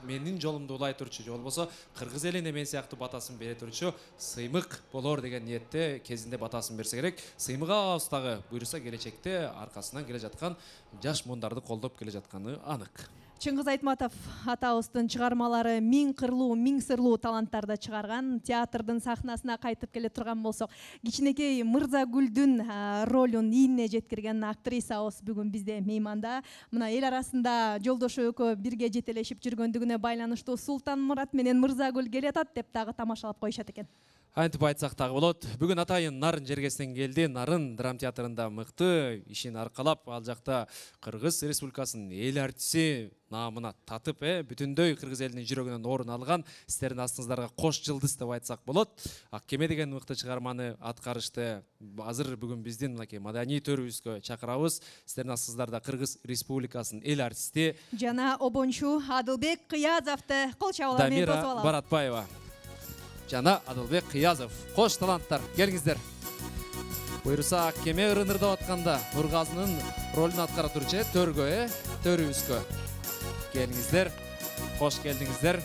менин жолумду улай турчу, же болбосо кыргыз элине мен сыяктуу батасын бере турчу Сыймык болор деген ниетте кезинде батасын берсе керек. Сыймык агабыз дагы буйруса келечекте аркасынан келе жаткан жаш мундарды колдоп келе жатканы анык. Чыңгыз Айтматов атабыздын чыгармалары миң кырлуу, миң сырлуу таланттарды чыгарган. Театрдын сахнасына кайтып келе турган болсок, кичинекей Мырзагүлдүн ролун ийине жеткирген актрисабыз бүгүн бизде мейманда. Мына эл арасында жолдошу экөө бирге жетелешип жүргөндүгүнө байланыштуу Султанмурат менен Мырзагүл келатат деп дагы тамашалап коюшат экен. Антип айтсак дагы болот. Бүгүн атайын Нарын жергесинен келди. Нарын драма театрында мыкты ишин аркалап, ал жакта Кыргыз Республикасынын эл артиси наамына татып, э, бүтүндөй кыргыз элинин жүрөгүнөн орун алган. Сиздердин астыңыздарга кош жылдыз деп айтсак болот. Ак кеме деген мыкты чыгарманы аткарышты. Азыр бүгүн биздин мынакей маданий төрүбүзгө чакырабыз. Сиздердин астыңыздарда Кыргыз Республикасынын эл артисти жана обончу Адылбек Кыязовду кол чабуулар менен тосуп алабыз. Баратбаева жана Адылбек Кыязов. Кош таланттар, келиңиздер. Буйруса ак кеме ырынырдап атканда Нургазынын ролун аткара турчу төргө, э, төрүбүзгө. Келиңиздер. Кош келдиңиздер.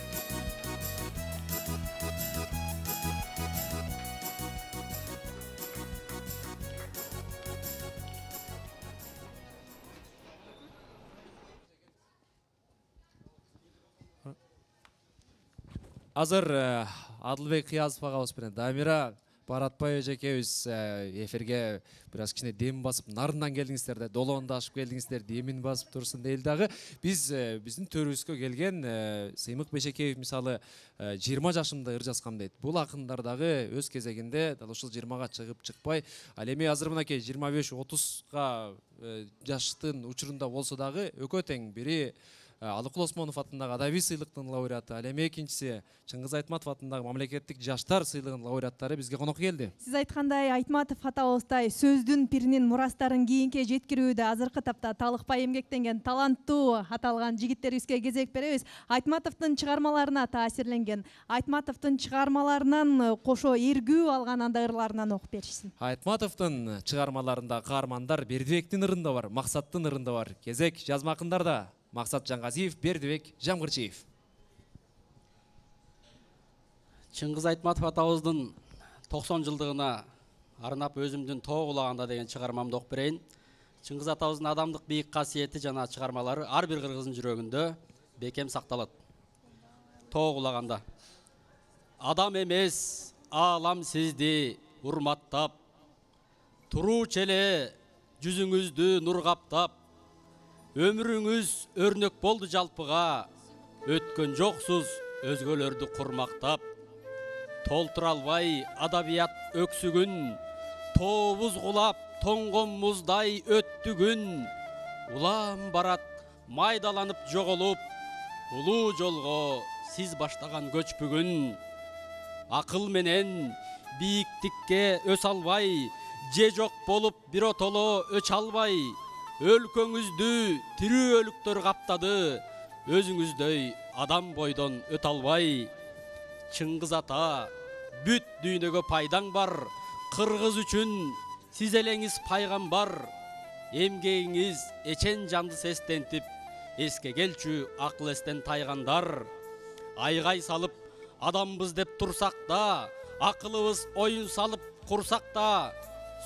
Азыр Адылбек Кыязов агабыз менен Дамира Баратбаева эжекебиз эфирге бир аз кичине дем басып, Нарындан келдиңиздер да, долоонду ашып келдиңиздер, демин басып турсун дейли дагы. Биз биздин төрүбүзгө келген Сыймык Бешекеев мисалы жыйырма жашымда ыр жазгам дейт. Бул акындар дагы өз кезегинде дал ушул жыйырмага чыгып чыкпай, ал эми азыр мынакей жыйырма беш отузга жаштын учурунда болсо дагы экөө тең. Бири Алыкул Осмонов атындагы адабий сыйлыктын лауреаты, ал эми экинчиси Чыңгыз Айтматов атындагы мамлекеттик жаштар сыйлыгынын лауреаттары бизге конок келди. Сиз айткандай, Айтматов атабыздай сөздүн пиринин мурастарын кийинке жеткирүүдө азыркы тапта талыкпай эмгектенген таланттуу аталган жигиттерибизге кезек беребиз. Айтматовдун чыгармаларына таасирленген, Айтматовдун чыгармаларынан кошо эргүү алган андай ырларынан окуп беришсин. Айтматовдун чыгармаларында каармандар Бердибектин ырында бар, Максаттын ырында бар. Кезек жазма акындарда Максат Жаңгазиев, Бердибек Жамгырчиев. Чыңгыз Айтматов атабыздын токсон жылдыгына арнап өзүмдүн Тоо кулаганда деген чыгармамды окуп берейин. Чыңгыз атабыздын адамдык бийик касиети жана чыгармалары ар бир кыргыздын жүрөгүндө бекем сакталат. Тоо кулаганда. Адам эмес, аалам сизди урматтап, туруучу эле жүзүңүздү нур каптап, өмүрүңүз өрнөк болду жалпыга, өткөн жоксуз өзгөлөрдү курмактап. Толтура албай адабият өксүгүн, тообуз кулап тоңгон муздай өттү күн. Улам барат майдаланып жоголуп, улуу жолго сиз баштаган көч бүгүн. Акыл менен бийиктикке өс албай, же жок болуп бир отоло өч албай, өлкөңүздү тирүү өлүктөр каптады, өзүңүздөй адам бойдон өтө албай. Чыңгыз ата, бүт дүйнөгө пайдаң бар, кыргыз үчүн сиз элеңиз пайгамбар. Эмгегиңиз эчен жанды сестентип, эске келчү акыл эстен тайгандар. Айгай салып адамбыз деп турсак да, акылыбыз оюн салып курсак да,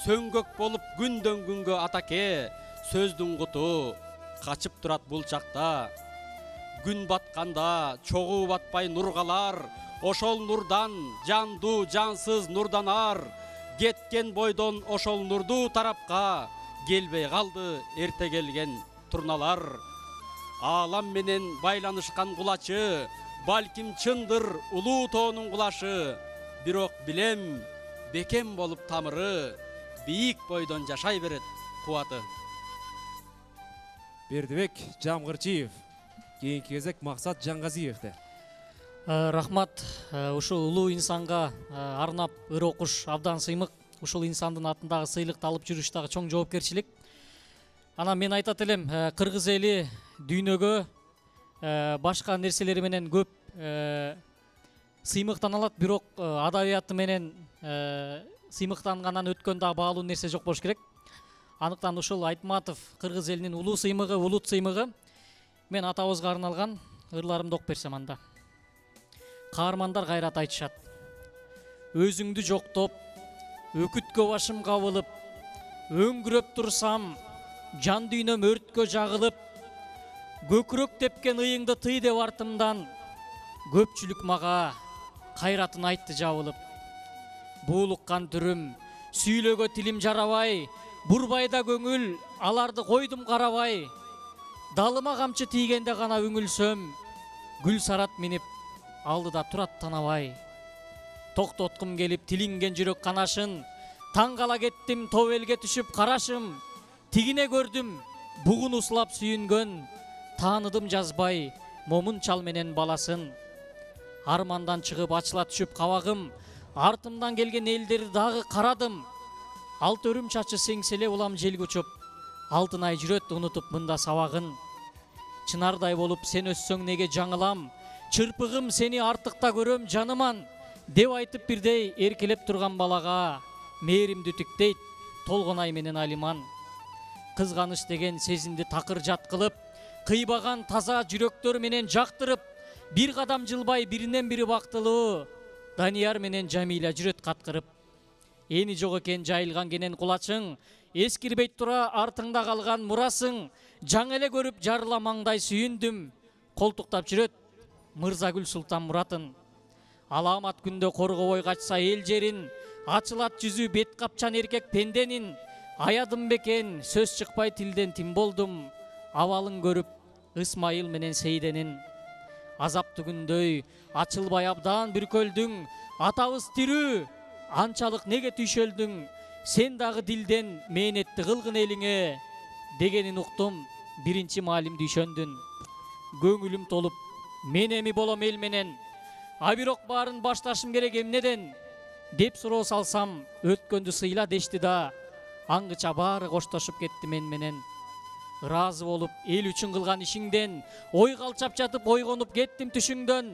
сөңгөк болуп күндөн күнгө атаке, сөздүн куту качып турат бул чакта. Күн батканда чогуу батпай нур калар, ошол нурдан жандуу жансыз нурданар. Кеткен бойдон ошол нурдуу тарапка келбей калды эрте келген турналар. Аалам менен байланышкан кулачы, балким чындыр улуу тоонун кулашы. Бирок билем, бекем болуп тамыры, бийик бойдон жашай берет кубаты. Бердибек Жамгырчиев. Кийинки кезек Максат Жаңгазиевде. Рахмат, ушул улуу инсанга арнап ыр окуш абдан сыймык. Ушул инсандын атындагы сыйлыкты алып жүрүш дагы чоң жоопкерчилик. Анан мен айтат элем, кыргыз эли дүйнөгө башка нерселери менен көп сыймыктаналат, бирок адабияты менен сыймыктангандан өткөн дагы баалуу нерсе жок болуш керек. Анықтан ушул Айтматов кыргыз элинин улуу сыймыгы, улут сыймыгы. Мен атабызга арналган ырларымды окуп берсем анда. Каармандар кайрат айтышат. Өзүңдү жоктоп, өкүткө башым кабылып, өңгүрөп турсам, жан дүйнөм өрткө жагылып, көкүрөк тепкен ыйыңды тый деп артымдан. Көпчүлүк мага кайратын айтты жабылып. Буулуккан түрүм, сүйлөгө тилим жарабай, бурбайда көңүл, аларды койдум карабай. Далыма камчы тийгенде гана үңүлсөм, гүл сарат минип алдыда турат танабай. Токтоткум келип тилинген жүрөк канашын, таң кала кеттим топ элге түшүп карашым. Тигине көрдүм, бугун услап сүйүнгөн, тааныдым жазбай момун чал менен баласын. Армандан чыгып ачыла түшүп кабагым, артымдан келген элдерди дагы карадым. Алт өрүм чачы сеңселе улам желге учуп, алтын ай жүрөт унутуп мында сабагын. Чынардай болуп сен өссөң неге жаңылам, чырпыгым сени артыкта көрөм жаныман, деп айтып бирдей эркелеп турган балага мээримди түктейт толгонай менен Алиман. Кызганыч деген сезимди такыр жат кылып, кыйбаган таза жүрөктөр менен жактырып, бир кадам жылбай биринен бири бактылуу, Данияр менен Жамиля жүрөт каткырып. Эни жок экен жайылган кенен кулачың, эскирбейт тура артыңда калган мурасың. Жаңы эле көрүп жарыла маңдай сүйүндүм, колтуктап жүрөт Мырзагүл Султан Муратын. Аламат күндө коргобой качса эл жерин, ачылат жүзү бет капчан эркек пенденин. Аядым бекен сөз чыкпай тилден тим болдум, абалын көрүп Ысмайыл менен Сейденин. Азаптуу күндөй ачылбай абдан бүркөлдүң, атабыз тирүү, анчалык неге түйшөлдүң, сен дагы дилден мээнетти кылгын элиңе, дегенин уктум, биринчи маалимди ишөндүн. Көңүлүм толуп, мен эми болом эл менен, а бирок баарын башташым керек эмнеден, деп суроо салсам, өткөндү сыйла дешти да, аңгыча баары коштошуп кетти мен менен. Ыраазы болуп, эл үчүн кылган ишиңден, ой калчап жатып ойгонуп кеттим түшүңдөн.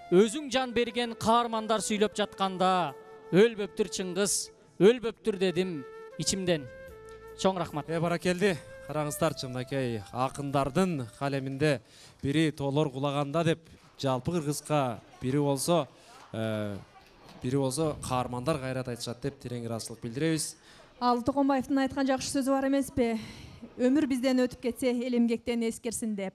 Өзүң жан берген каармандар сүйлөп жатканда, өлбөптүр Чыңгыз, өлбөптүр дедим ичимден. Чоң рахмат. Э баракелди. Караңыздарчы, мынакей акындардын калеминде бири тоолор кулаганда деп жалпы кыргызга бири болсо, бири болсо каармандар кайрат айтышат деп терең ыраазычылык билдиребиз. Ал Токонбаевдин айткан жакшы сөзү бар эмеспи? Өмүр бизден өтүп кетсе, эл эмгектен эскерсин деп.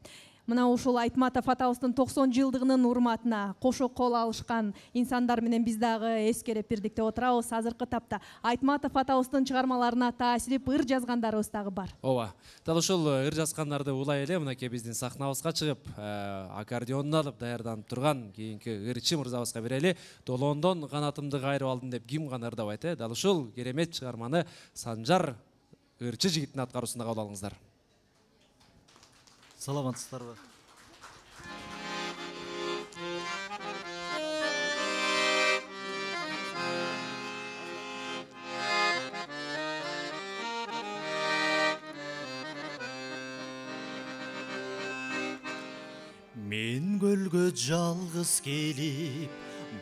Мына ушул Айтматов атабыздын токсон жылдыгынын урматына кошо кол алышкан инсандар менен биз дагы эскерип бирдик деп отурабыз. Азыркы тапта Айтматов атабыздын чыгармаларына таасирип ыр жазгандарыбыз дагы бар. Ооба. Дал ушул ыр жазгандарды улай эле мынакей биздин сахнабызга чыгып, аккордеонун алып даярданып турган кийинки ырчы мырзабызга берели. Долондон канатымды кайрып алдым деп ким гана ырдабайт, э? Дал ушул керемет чыгарманы Санжар ырчы жигиттин аткаруусунда кабыл алыңыздар. Саламатсыздарбы? Мен көлгө жалгыз келип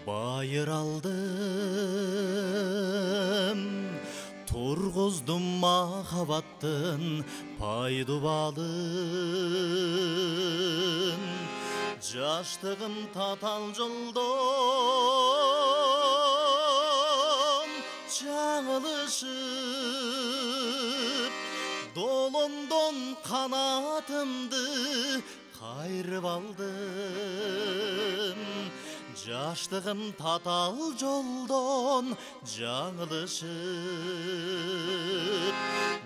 байыр алдым, тургуздум махабаттын пайдубалын. Жаштыгым татал жолдон жаңылышып, долондон канатымды кайрып алдым. Жаштыгым татал жолдон жаңылышып,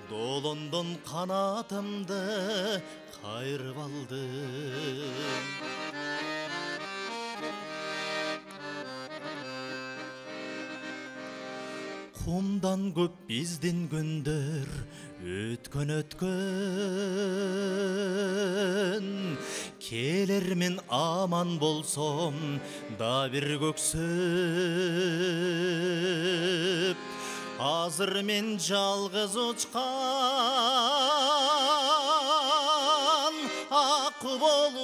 долондон канатымды кайрып алдым. Кумдан көп биздин күндөр өткөн өткөн, келермин аман болсом да бир көксөп. Азыр мен жалгыз учкан ак болуп,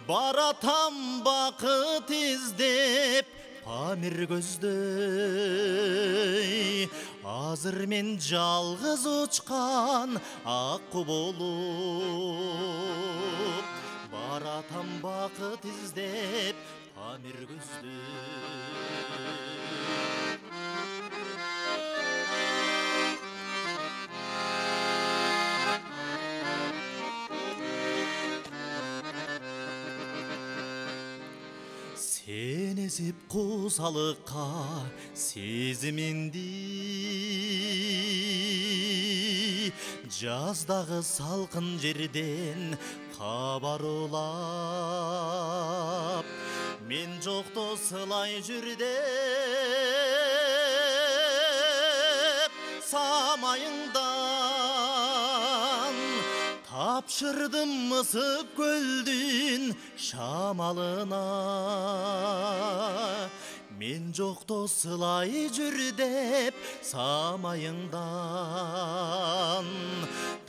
баратам бакыт издеп Памир көздөй. Азыр мен жалгыз учкан ак болуп, баратам бакыт издеп Памир көздөй. сезип куусалыкка сезиминди жаздагы салкын жерден кабар улап мен жокто сылай жүр деп самайыңдан тапшырдым ысык көлдүн шамалына мен жокто сылай жүр деп самайыңдан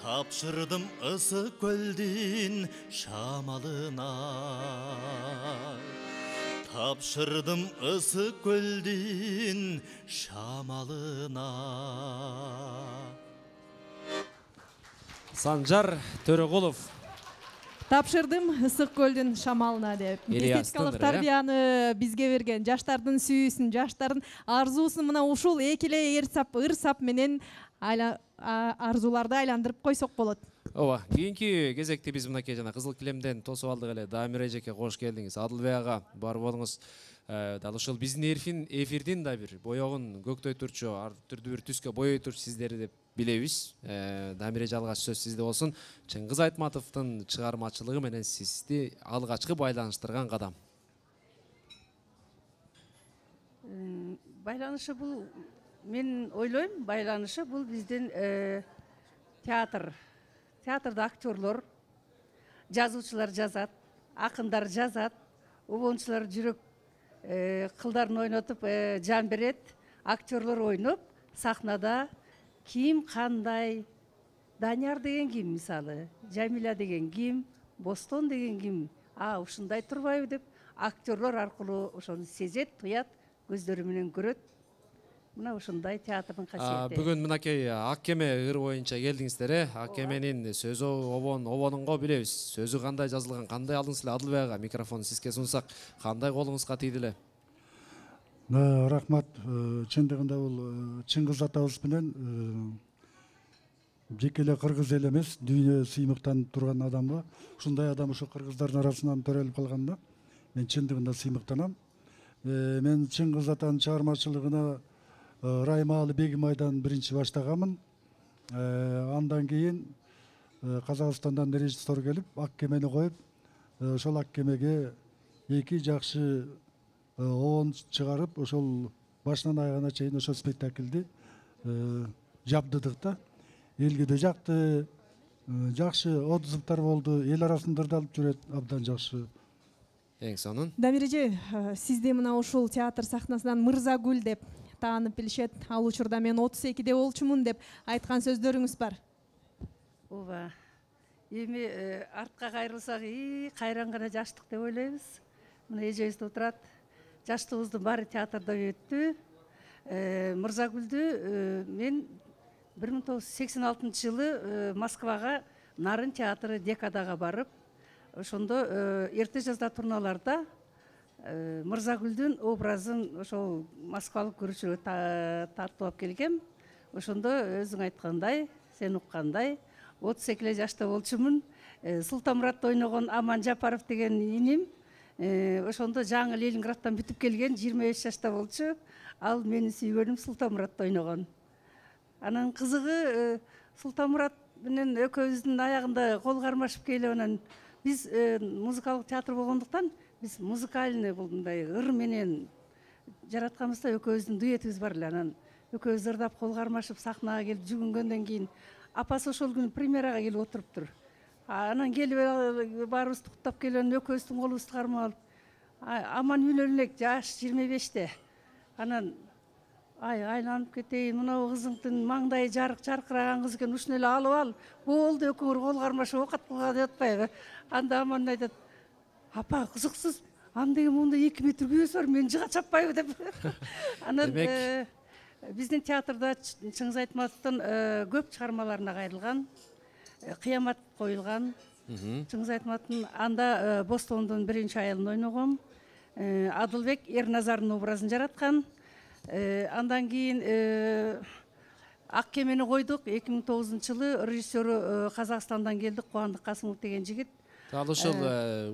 тапшырдым ысык көлдүн шамалына тапшырдым ысык көлдүн шамалына. Санжар Төрөгулов Тапшырдым ысык көлдүн шамалына деп. Эстетикалык тарбияны бизге берген жаштардын сүйүүсүн, жаштардын арзуусун мына ушул эки эле ыр сап менен арзууларды айландырып койсок болот. Ооба, кийинки кезекте биз мынакей жана Кызыл килемден тосуп алдык эле. Дамир эжеке кош келдиңиз. Адылбек ага бар болуңуз. Дал ушул биздин эфирдин да бир боёгун көктөйтүрчү, ар түрдүү бир түскө боёйтурчу сиздерди деп билебиз. Дамир эже алгач сөз сизде болсун. Чыңгыз Айтматовдун чыгармачылыгы менен сизди алгачкы байланыштырган кадам. Байланышы бул, мен ойлойм, байланышы бул биздин театр. Театрда актерлор, жазуучулар жазат, акындар жазат, обончулар жүрөк кылдарын ойнотуп жан берет, актерлор ойноп, сахнада ким кандай, Данияр деген ким мисалы, Жамиля деген ким, Бостон деген ким, а ушундай турбайбы деп актерлор аркылуу ошону сезет, туят, көздөрү менен көрөт. Мына ушундай театрдын касиети. Бүгүн мынакей Ак кеме ыр боюнча келдиңиздер, э? Ак кеменин сөзү обон, обонунго билебиз. Сөзү кандай жазылган, кандай алдыңыз эле Адылбек ага? Микрофону сизге сунсак, кандай колуңузга тийди эле? Рахмат. Чындыгында бул Чыңгыз атабыз менен жеке эле кыргыз эл эмес, дүйнө сыймыктанып турган адамга, ушундай адам ушу кыргыздардын арасынан төрөлүп калганда мен чындыгында сыймыктанам. Мен Чыңгыз атанын чыгармачылыгына Раймалы Бегимайдан биринчи баштаганмын. Андан кийин Казакстандан режиссер келип, Ак кемени коюп, ошол Ак кемеге эки жакшы обон чыгарып, ошол башынан аягына чейин ошол спектакльди жабдыдык да. Элге да жакты, жакшы отзывдар болду, эл арасында да алып жүрөт, абдан жакшы. Эң сонун. Дамир эже, сизди мына ушул театр сахнасынан Мырзагүл деп таанып билишет. Ал учурда мен отуз экиде болчумун деп айткан сөздөрүңүз бар. Ооба. Эми артка кайрылсак, и кайран гана жаштык деп ойлойбуз. Мына эжебиз да отурат. Жаштыгыбыздын баары театрда өттү. Мырзагүлдү мен бир миң тогуз жүз сексен алтынчы жылы Москвага Нарын театры Декадага барып, ошондо эрте жазда турналарда Мырзагүлдүн образын ошол москвалык көрүүчүлөргө тартып алып келгем. Ошондо өзүң айткандай, сен уккандай, отуз эки эле жашта болчумун. Султанмуратты ойногон Аман Жапаров деген иним, ошондо жаңы Ленинградтан бүтүп келген, жыйырма беш жашта болчу. Ал менин сүйгөнүм Султанмуратты ойногон. Анан кызыгы Султанмурат менен экөөбүздүн аягында кол кармашып келип, анан биз музыкалык театр болгондуктан биз музыкальный бул мындай ыр менен жаратканбызда экөөбүздүн дуэтибиз бар эле. Анан экөөбүз ырдап кол кармашып сахнага келип жүгүнгөндөн кийин апасы ошол күнү премьерага келип отуруптур. Анан келип баарыбызды куттап келип, экөөбүздүн колубузду кармап алып, аман үйлөнүп элек, жаш жыйырма беште. Анан ай айланып кетейин, мына кызыңдын маңдайы жарык жаркыраган кыз экен, ушуну эле алып ал. Болду, экөөңөр кол кармашып оокат кылган деп атпайбы? Анда аман айтат, апа кызыксыз, андеген монда эки метр күйөөсү бар, мен жыга чаппайбы деп. Анан биздин театрда Чыңгыз Айтматовдун көп чыгармаларына кайрылган, Кыямат коюлган. Чыңгыз Айтматовдун анда Бостондун биринчи аялын ойногом. Адылбек Эрназардын образын жараткан. Андан кийин Ак кемени койдук. эки миң тогузунчу жылы режиссеру Казакстандан келди, Кубандык Касымов деген жигит. Ал ошол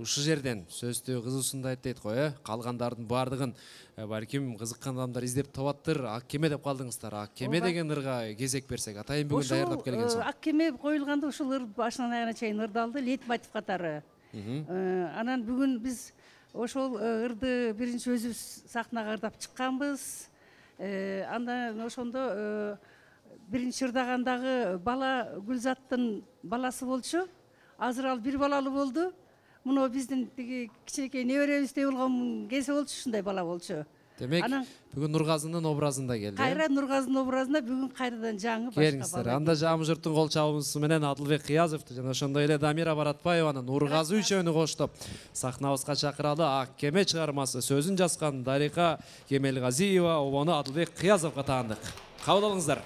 ушул жерден сөздү кызуусунда айтты дейт го, э? Калгандардын баардыгын балким кызыккан адамдар издеп табаттыр. Ак кеме деп калдыңыздар. Ак кеме деген ырга кезек берсек, атайын бүгүн даярдап келгенсиң. Ак кеме коюлганда ушул ыр башынан аягына чейин ырдалды, лейтмотив катары. Анан бүгүн биз ошол ырды биринчи өзүбүз сахнага ырдап чыкканбыз. Андан ошондо биринчи ырдагандагы бала Гүлзаттын баласы болчу. Азыр ал бир балалуу болду. Муну биздин тиги кичинекей неберебиздей болгон кези болчу, ушундай бала болчу. Демек, бүгүн Нургазынын образында келди. Кайра Нургазынын образында бүгүн кайрадан жаңы башка бала. Келиңиздер. Анда Жамы журттун кол чабуусу менен Адылбек Кыязовду жана ошондой эле Дамира Баратбаеваны, Нургазы үчөөнү коштоп сахнабызга чакыралы. Ак кеме чыгармасы сөзүн жазган Дарика Кемелгазиева обону Адылбек Кыязовго таандык. Кабыл алыңыздар.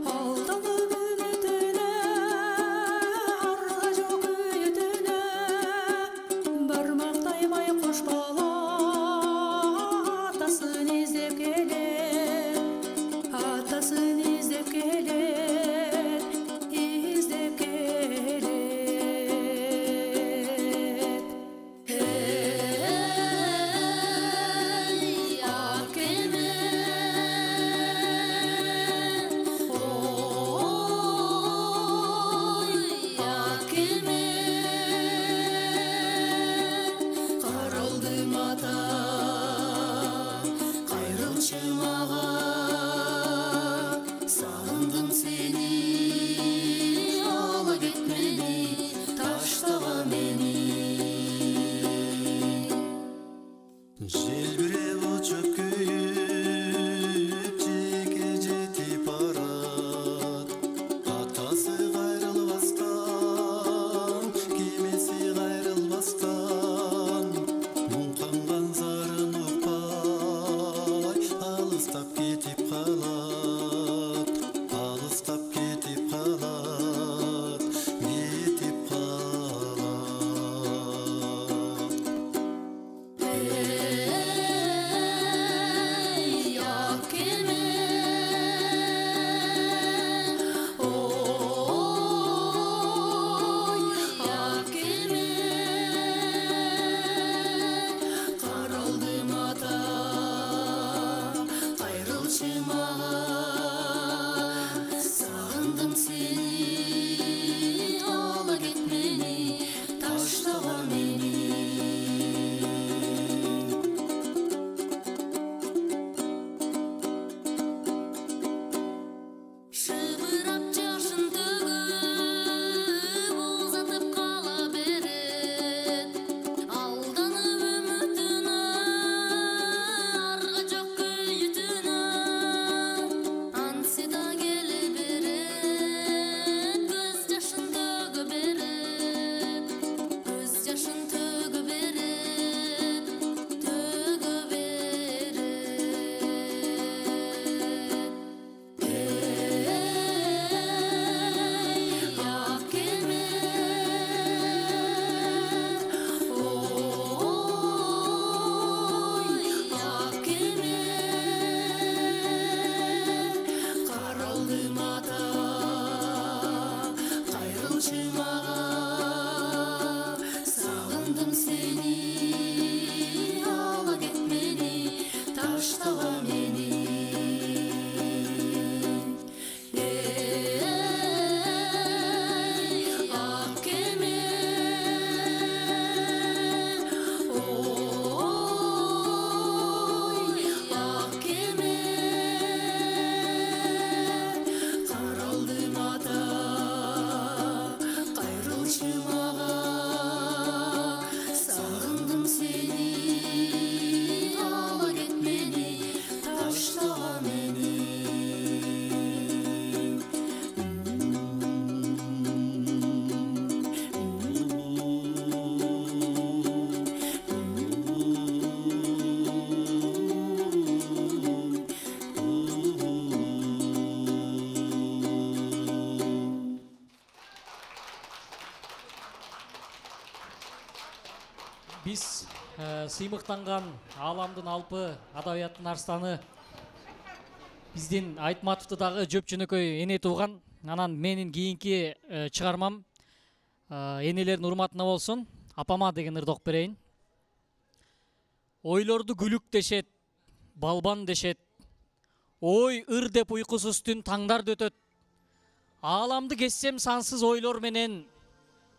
Aldalı биз сыймыктанган ааламдын алпы, адабияттын арстаны биздин Айтматовду дагы жөп жөнөкөй эне тууган. Анан менин кийинки чыгармам энелердин урматына болсун. Апама деген ырды окуп берейин. Ойлорду күлүк дешет, балбан дешет. Ой ыр деп уйкусуз түн таңдарда өтөт. Ааламды кессем сансыз ойлор менен,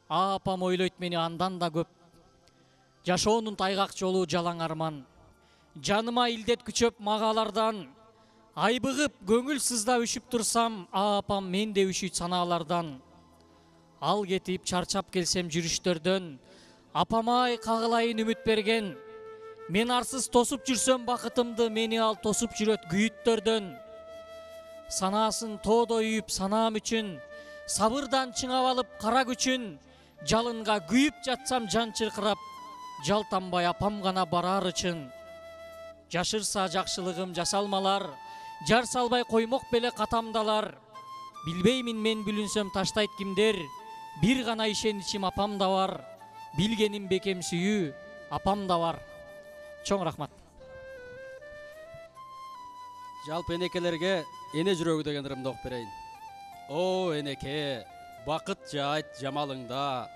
апам ойлойт мени андан да көп. Жашоонун тайгак жолу жалаң арман. Жаныма илдет күчөп магалардан. Айбыгып көңүл сызда үшүп турсам, апам менде үшүйт санаалардан. Ал кетип чарчап келсем жүрүштөрдөн, апамай кагылайын үмүт берген. Мен арсыз тосуп жүрсөм бакытымды, мени ал тосуп жүрөт күйүттөрдөн. Санаасын тоодо үйүп санаам үчүн, сабырдан чыңап алып кара күчүн. Жалынга күйүп жатсам жан чыркырап, жалтанбай апам гана барар үчүн. Жашырса жакшылыгым жасалмалар, жар салбай коймок беле катамдалар. Билбеймин мен бүлүнсөм таштайт кимдер, бир гана ишеничим апамда бар. Билгеним бекем сүйүү апамда бар. Чоң рахмат. Жалпы энекелерге эне жүрөгү деген ырымды окуп берейин. О энеке, бакыт жайт жамалыңда,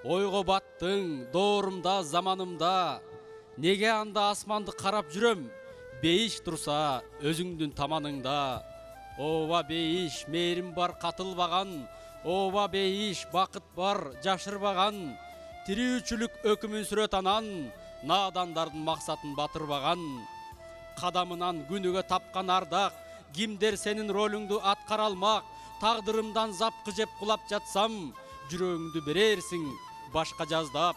ойго баттың доорумда заманымда. Неге анда асманды карап жүрөм, бейиш турса өзүңдүн таманыңда. Ооба бейиш, мээрим бар катылбаган, ооба бейиш, бакыт бар жашырбаган. Тирүүчүлүк өкүмүн сүрөт анан, наадандардын максатын батырбаган. Кадамынан күнүгө тапкан ардак, кимдер сенин ролуңду аткара алмак. Тагдырымдан запкы жеп кулап жатсам, жүрөгүңдү берерсиң башка жаздап.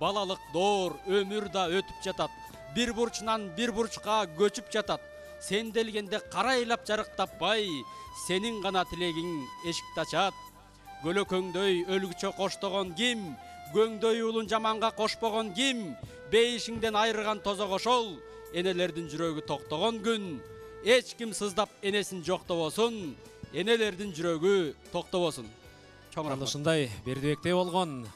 Балалык доор өмүр да өтүп жатат, бир бурчунан бир бурчка көчүп жатат. Сен делгенде карайлап жарык таппай, сенин гана тилегиң эшикти ачат. Көлөкөңдөй өлгүчө коштогон ким, көңдөй улун жаманга кошпогон ким? Бейишиңден айырган тозок ошол, энелердин жүрөгү токтогон күн. Эч ким сыздап энесин жоктобосун, энелердин жүрөгү токтобосун. Чоң рахмат. Ушундай Бердибектей болгон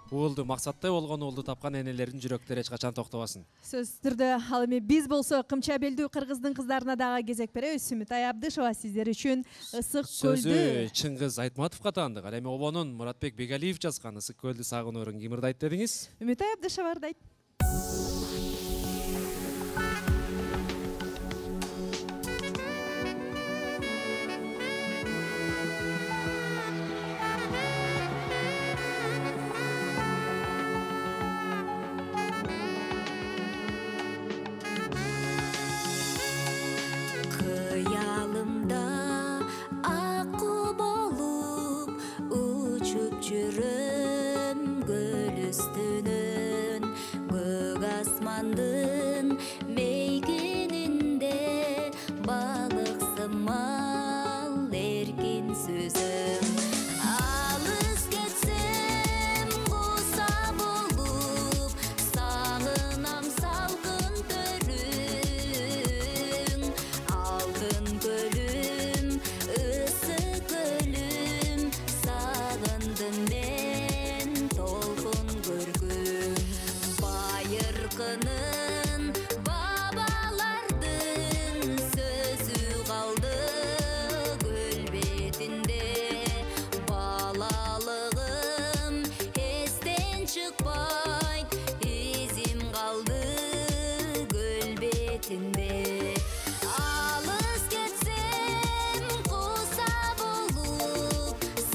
уулду, максаттай болгон уулду тапкан энелердин жүрөктөрү эч качан токтобосун. Сөзсүз түрдө ал эми биз болсо Кымча белдүү кыргыздын кыздарына дагы кезек беребиз. Сүмүтай Абдышева сиздер үчүн ысык көлдү. Сөзү Чыңгыз Айтматовго таандык. Ал эми обонун Муратбек Бегалиев жазган ысык көлдү сагыноорун ким ырдайт дедиңиз? Үмүтай Абдышева ырдайт.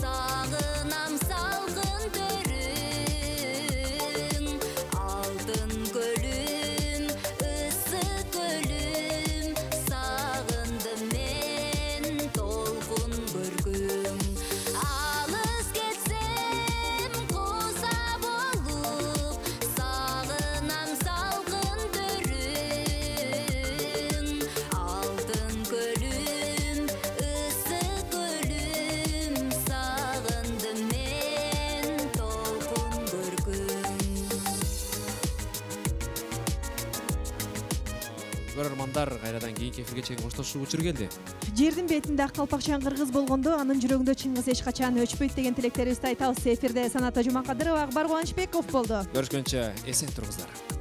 Салгынам салгын угармандар, кайрадан кийинки эфирге чейин коштошуу учур келди. Жердин бетинде ак калпакчан кыргыз болгондо анын жүрөгүндө Чыңгыз эч качан өчпөйт деген тилектерибизди айтабыз. Эфирде Саната Жумакадырова, Акбар Кубанычбеков болду. Көрүшкөнчө эсен туруңуздар.